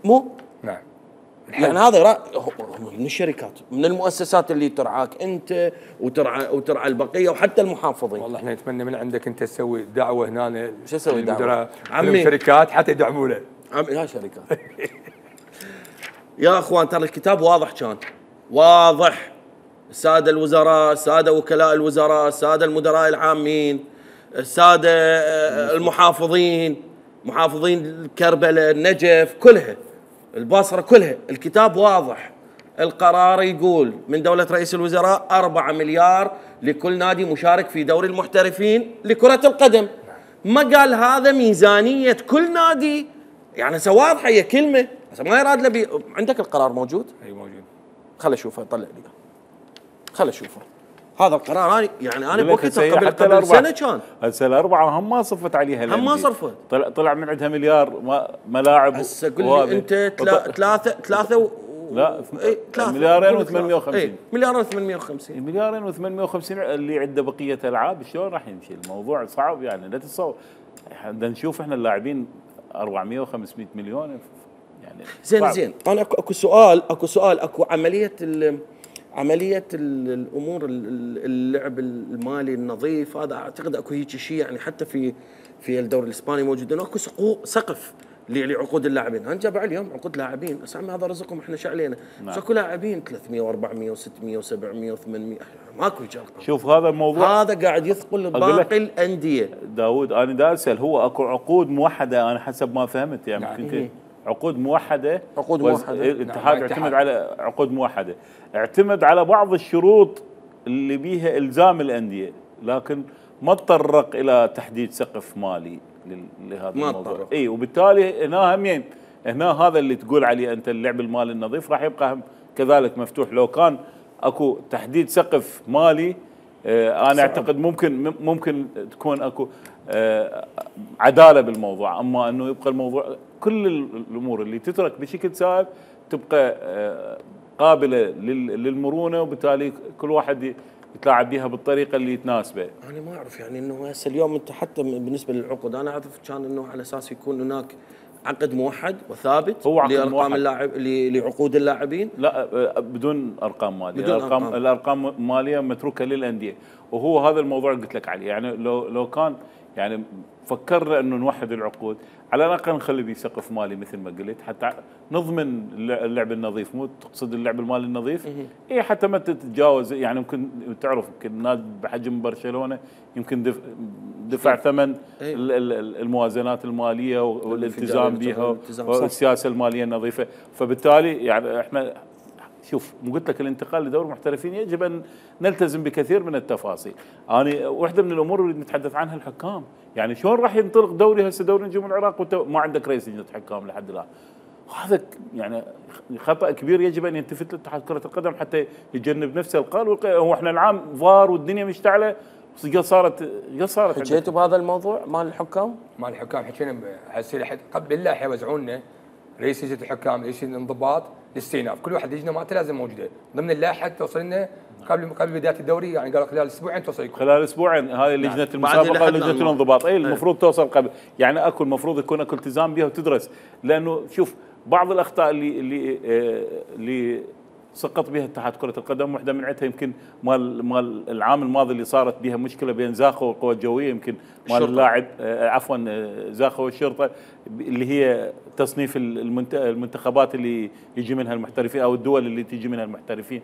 مو؟ نعم. يعني هذا من الشركات من المؤسسات اللي ترعاك انت وترعى البقيه وحتى المحافظين. والله احنا نتمنى من عندك انت تسوي دعوه هنا. شو اسوي دعوه؟ عمي شركات حتى يدعمونه. يا شركات. يا اخوان ترى الكتاب واضح، كان واضح. الساده الوزراء، الساده وكلاء الوزراء، الساده المدراء العامين، الساده المحافظين، محافظين كربلاء، النجف، كلها البصره كلها، الكتاب واضح. القرار يقول من دولة رئيس الوزراء 4 مليار لكل نادي مشارك في دوري المحترفين لكرة القدم. ما قال هذا ميزانية كل نادي، يعني هسه واضحة هي كلمة، هسه ما يراد له عندك القرار موجود؟ اي موجود. خل اشوفه، طلع لي خل اشوفه. هذا القرار انا بوقتها هسه قبل سنه كان هسه الاربعه هم ما صفت عليها هم ما صرفت. طلع من عندها مليار ملاعب. هسه قل لي انت ثلاثه لا إيه 2.850 مليارين و850 2.850 اللي عنده بقيه العاب شلون راح يمشي الموضوع؟ صعب يعني. لا تتصور بدنا نشوف احنا اللاعبين 400 و500 مليون يعني زين انا اكو سؤال اكو عمليه الامور اللعب المالي النظيف هذا اعتقد اكو هيك شيء يعني حتى في الدوري الاسباني موجود انه اكو سقف لعقود اللاعبين. انا جاب اليوم عقود لاعبين بس هذا رزقهم احنا شو علينا. بس اكو لاعبين 300 و400 و600 و700 و800 ماكو هيك ارقام. شوف هذا الموضوع هذا قاعد يثقل باقي الانديه. داوود انا دا اسال هو اكو عقود موحده انا حسب ما فهمت يعني يمكن عقود موحده. الاتحاد اعتمد على عقود موحده، اعتمد على بعض الشروط اللي بيها الزام الانديه، لكن ما تطرق الى تحديد سقف مالي لهذا الموضوع. اي وبالتالي هنا هذا اللي تقول عليه انت اللعب المالي النظيف راح يبقى كذلك مفتوح. لو كان اكو تحديد سقف مالي انا اعتقد ممكن تكون اكو عداله بالموضوع، اما انه يبقى الموضوع كل الامور اللي تترك بشكل سائب تبقى قابله للمرونه، وبالتالي كل واحد يتلاعب بها بالطريقه اللي تناسبه. انا ما اعرف يعني انه هسه اليوم انت حتى بالنسبه للعقود انا اعرف كان انه على اساس يكون هناك عقد موحد وثابت لارقام اللاعب لعقود اللاعبين. لا بدون ارقام ماليه، الارقام الماليه متروكه للانديه، وهو هذا الموضوع اللي قلت لك عليه. يعني لو كان يعني فكرنا انه نوحد العقود على الاقل نخلي به سقف مالي مثل ما قلت حتى نضمن اللعب النظيف. مو تقصد اللعب المالي النظيف اي حتى ما تتجاوز يعني يمكن تعرف يمكن نادي بحجم برشلونه يمكن دفع ثمن الموازنات الماليه والالتزام بها والسياسه الماليه النظيفه. فبالتالي يعني احنا شوف قلت لك الانتقال لدوري المحترفين يجب ان نلتزم بكثير من التفاصيل. انا واحده من الامور اللي نتحدث عنها الحكام، يعني شلون راح ينطلق دوري هسه دوري نجوم العراق وانت ما عندك رئيس لجنه حكام لحد الان؟ هذا يعني خطا كبير يجب ان يلتفت له اتحاد كره القدم حتى يجنب نفسه القال. هو احنا العام فار والدنيا مشتعله صارت حكيتوا بهذا الموضوع مال الحكام؟ حكينا هسه قبل الله حيوزعون لنا رئيس لجنه الحكام، رئيس الانضباط، الاستئناف، كل واحد لجنه مالته لازم موجوده ضمن اللائحه توصل لنا قبل بدايه الدوري. يعني قالوا خلال اسبوعين توصل لكم. خلال اسبوعين هاي لجنه المسابقه لجنه الانضباط المفروض توصل قبل. يعني اكو المفروض يكون اكو التزام بها وتدرس، لانه شوف بعض الاخطاء اللي سقط بها اتحاد كره القدم واحده من عندها يمكن مال العام الماضي اللي صارت بها مشكله بين زاخو والقوى الجويه، يمكن مال اللاعب عفوا زاخو والشرطه اللي هي تصنيف المنتخبات اللي يجي منها المحترفين او الدول اللي تيجي منها المحترفين.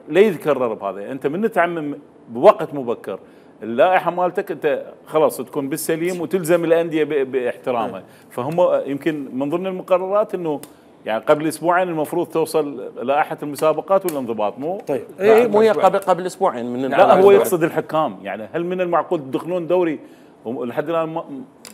لا يتكرر بهذا. انت من تعمم بوقت مبكر اللائحه مالتك انت خلاص تكون بالسليم وتلزم الانديه باحترامها. فهم يمكن من ضمن المقررات انه يعني قبل اسبوعين المفروض توصل لائحه المسابقات والانضباط. مو طيب مو هي قبل اسبوعين من لا هو يقصد الحكام. يعني هل من المعقول تدخلون دوري ولحد الان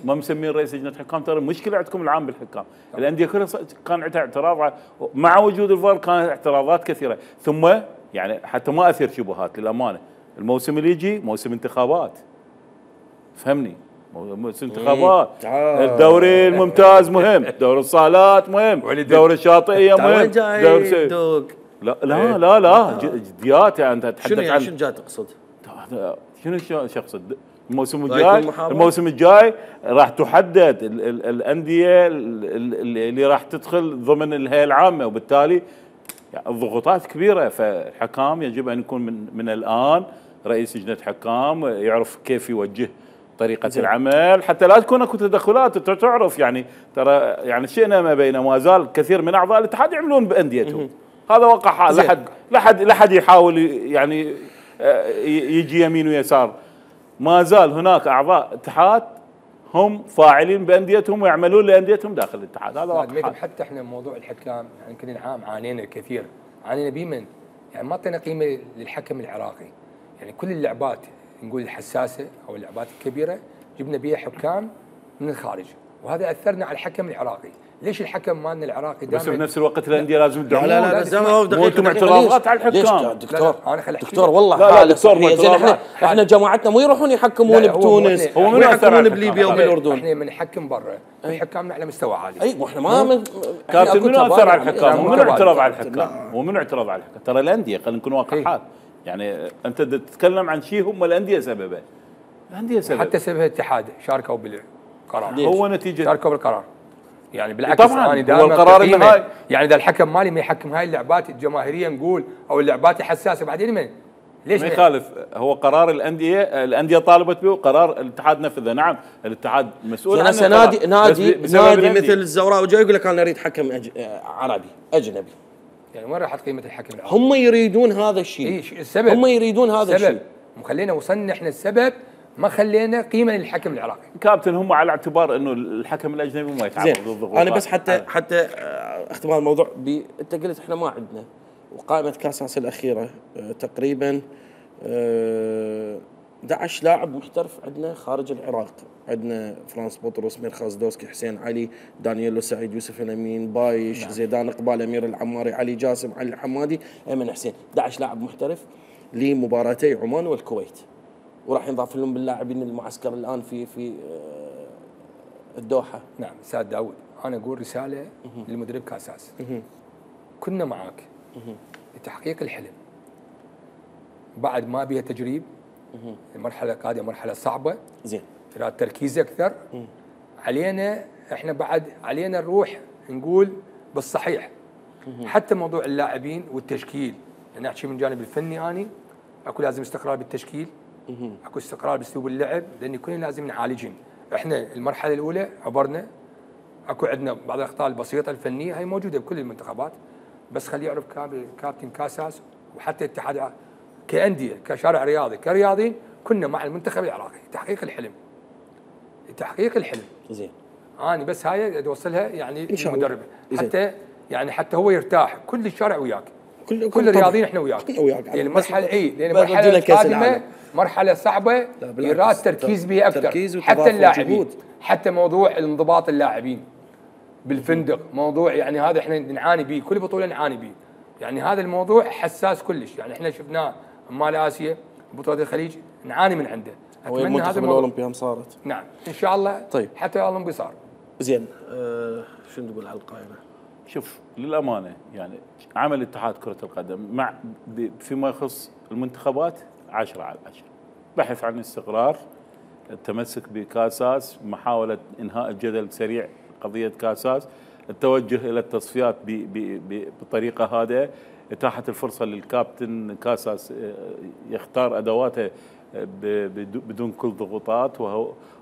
ما مسمين رئيس لجنه حكام؟ ترى المشكله عندكم العام بالحكام. الانديه كلها كان عندها اعتراض مع وجود الفار، كانت اعتراضات كثيره. ثم يعني حتى ما اثير شبهات للامانه، الموسم اللي يجي موسم انتخابات، فهمني، موسم انتخابات. الدوري الممتاز مهم، دوري الصالات مهم، دوري الشاطئيه مهم. لا جديات. يعني انت تتحدث عن شنو جاي تقصد؟ شنو اقصد؟ الموسم الجاي راح تحدد الانديه اللي راح تدخل ضمن الهيئه العامه، وبالتالي يعني الضغوطات كبيره. فالحكام يجب ان يكون من الان رئيس لجنه حكام يعرف كيف يوجه طريقه العمل حتى لا تكون اكو تدخلات. تعرف يعني ترى يعني شئنا ما بين ما زال كثير من اعضاء الاتحاد يعملون بانديتهم. هذا وقع حال لحد يحاول يعني يجي يمين ويسار. ما زال هناك اعضاء اتحاد هم فاعلين بانديتهم ويعملون لانديتهم داخل الاتحاد. هذا واقع. حتى احنا موضوع الحكام يعني كل عام عانينا كثير، عانينا بمن يعني ما اعطينا قيمه للحكم العراقي. يعني كل اللعبات نقول الحساسه او اللعبات الكبيره جبنا بها حكام من الخارج، وهذا اثرنا على الحكم العراقي. ليش الحكم مالنا العراقي بس دائما بنفس الوقت الانديه لازم تدعمون. لا بس مو انتم اعتراضات على الحكام. دكتور والله لا حاله دكتور صحية. زين احنا جماعتنا مو يروحون يحكمون بتونس ويحكمون بليبيا وبالاردن. احنا بنحكم برا، حكامنا على مستوى عالي. اي واحنا ما كابتن منو اثر على الحكام؟ ومنو اعترض على الحكام؟ ومنو اعترض على الحكام؟ ترى الانديه، خلينا نكون واقعيين. يعني انت تتكلم عن شيء هم الانديه سببه. الانديه سبب. حتى سبب الاتحاد شاركوا بالقرار. هو نتيجه شاركوا بالقرار. يعني بالعكس انا دائما هو القرار النهائي. يعني اذا الحكم مالي ما يحكم هاي اللعبات الجماهيريه نقول او اللعبات الحساسه بعدين من ليش ما يخالف؟ هو قرار الانديه طالبت به وقرار الاتحاد نفذه. نعم الاتحاد مسؤول عنه. هسه نادي مثل الزوراء وجاي يقول لك انا اريد حكم عربي اجنبي. يعني وين راحت قيمه الحكم العربي؟ هم يريدون هذا الشيء. اي السبب هم يريدون هذا الشيء. خلينا وصلنا احنا السبب، ما خلينا قيمه للحكم العراقي. كابتن هم على اعتبار انه الحكم الاجنبي ما يتعرض للضغوطات. انا بس حتى اختبار الموضوع انت قلت احنا ما عندنا، وقائمه كاس اسيا الاخيره تقريبا 11 لاعب محترف عندنا خارج العراق. عندنا فرانس بطرس، ميرخاز دوسكي، حسين علي، دانييلو سعيد، يوسف الامين، بايش، نعم. زيدان اقبال، امير العماري، علي جاسم، علي الحمادي، ايمن حسين. 11 لاعب محترف لمباراتي عمان والكويت، وراح ينضاف لهم باللاعبين المعسكر الان في الدوحه. نعم استاذ داود، انا اقول رساله للمدرب كاساس. كنا معاك لتحقيق الحلم، بعد ما بيها تجريب. المرحله القادمه مرحله صعبه، زين ترى تركيز اكثر علينا. احنا بعد علينا نروح نقول بالصحيح. حتى موضوع اللاعبين والتشكيل، انا احكي من جانب الفني، اني اكو لازم استقرار بالتشكيل، اكو استقرار باسلوب اللعب، لان كلنا لازم نعالجهم. احنا المرحله الاولى عبرنا، اكو عندنا بعض الاخطاء البسيطه الفنيه هي موجوده بكل المنتخبات، بس خليه يعرف كابتن كاساس وحتى الاتحاد كانديه كشارع رياضي كرياضيين كنا مع المنتخب العراقي تحقيق الحلم. زين انا بس هاي اوصلها يعني المدرب حتى يعني حتى هو يرتاح، كل الشارع وياك، كل الرياضيين احنا وياك. يعني المرحله لان المرحله القادمه مرحله صعبه يراد تركيز بها اكثر، حتى اللاعبين، حتى موضوع الانضباط اللاعبين بالفندق، موضوع يعني هذا احنا نعاني به، كل بطوله نعاني به. يعني هذا الموضوع حساس كلش، يعني احنا شفناه مال اسيا بطوله الخليج نعاني من عنده. اتمنى هذا الاولمبيا صارت. نعم ان شاء الله. طيب حتى الاولمبي صار. زين شنو تقول على القائمه؟ شوف للامانه يعني عمل اتحاد كره القدم مع فيما يخص المنتخبات 10 على 10. بحث عن استقرار، التمسك بكاساس، محاوله انهاء الجدل سريع قضيه كاساس، التوجه الى التصفيات بطريقه هادئه، اتاحه الفرصه للكابتن كاساس يختار ادواته بدون كل ضغوطات،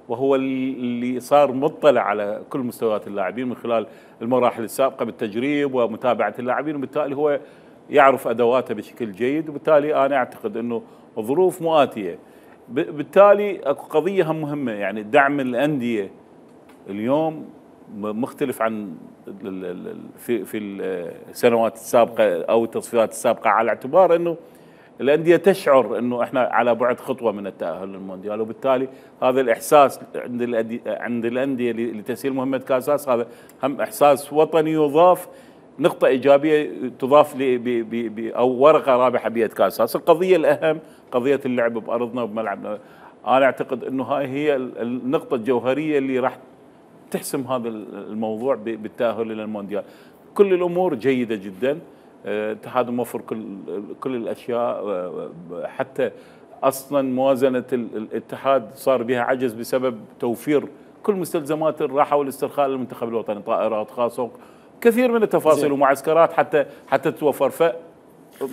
وهو اللي صار مطلع على كل مستويات اللاعبين من خلال المراحل السابقه بالتجريب ومتابعه اللاعبين، وبالتالي هو يعرف ادواته بشكل جيد، وبالتالي انا اعتقد انه الظروف مؤاتيه. بالتالي اكو قضيه هم مهمه، يعني دعم الانديه اليوم مختلف عن في السنوات السابقه او التصفيات السابقه، على اعتبار انه الانديه تشعر انه احنا على بعد خطوه من التاهل للمونديال، وبالتالي هذا الاحساس عند الانديه لتسهيل مهمه كاساس هذا هم احساس وطني يضاف، نقطه ايجابيه تضاف او ورقه رابحه بيد كاساس. القضيه الاهم قضيه اللعب بارضنا وبملعبنا، انا اعتقد انه هاي هي النقطه الجوهريه اللي راح تحسم هذا الموضوع بالتاهل الى المونديال. كل الامور جيده جدا، الاتحاد موفر كل الاشياء، حتى اصلا موازنه الاتحاد صار بها عجز بسبب توفير كل مستلزمات الراحه والاسترخاء للمنتخب الوطني، طائرات خاصه، كثير من التفاصيل ومعسكرات حتى توفر.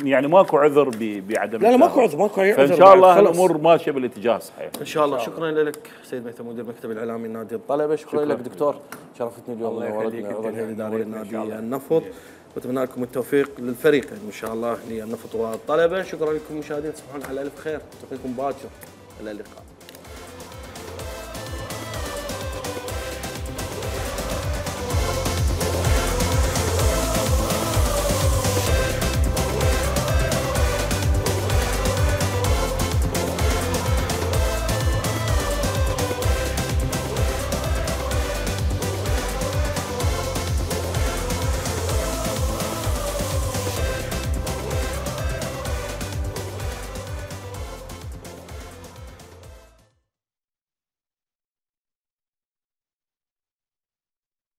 يعني ماكو عذر بعدم. لا ماكو عذر، فان شاء الله الامور ماشيه بالاتجاه الصحيح ان شاء الله. شكرا لك سيد ميثم مدير المكتب الاعلامي لنادي الطلبه. شكرا لك دكتور، شرفتني اليوم ونورتنا عضو الهيئه الاداريه لنادي النفط، واتمنى لكم التوفيق للفريقين ان شاء الله للنفط والطلبه. شكرا لكم مشاهدينا، تصبحون على الف خير، نلتقيكم باكر، الى اللقاء.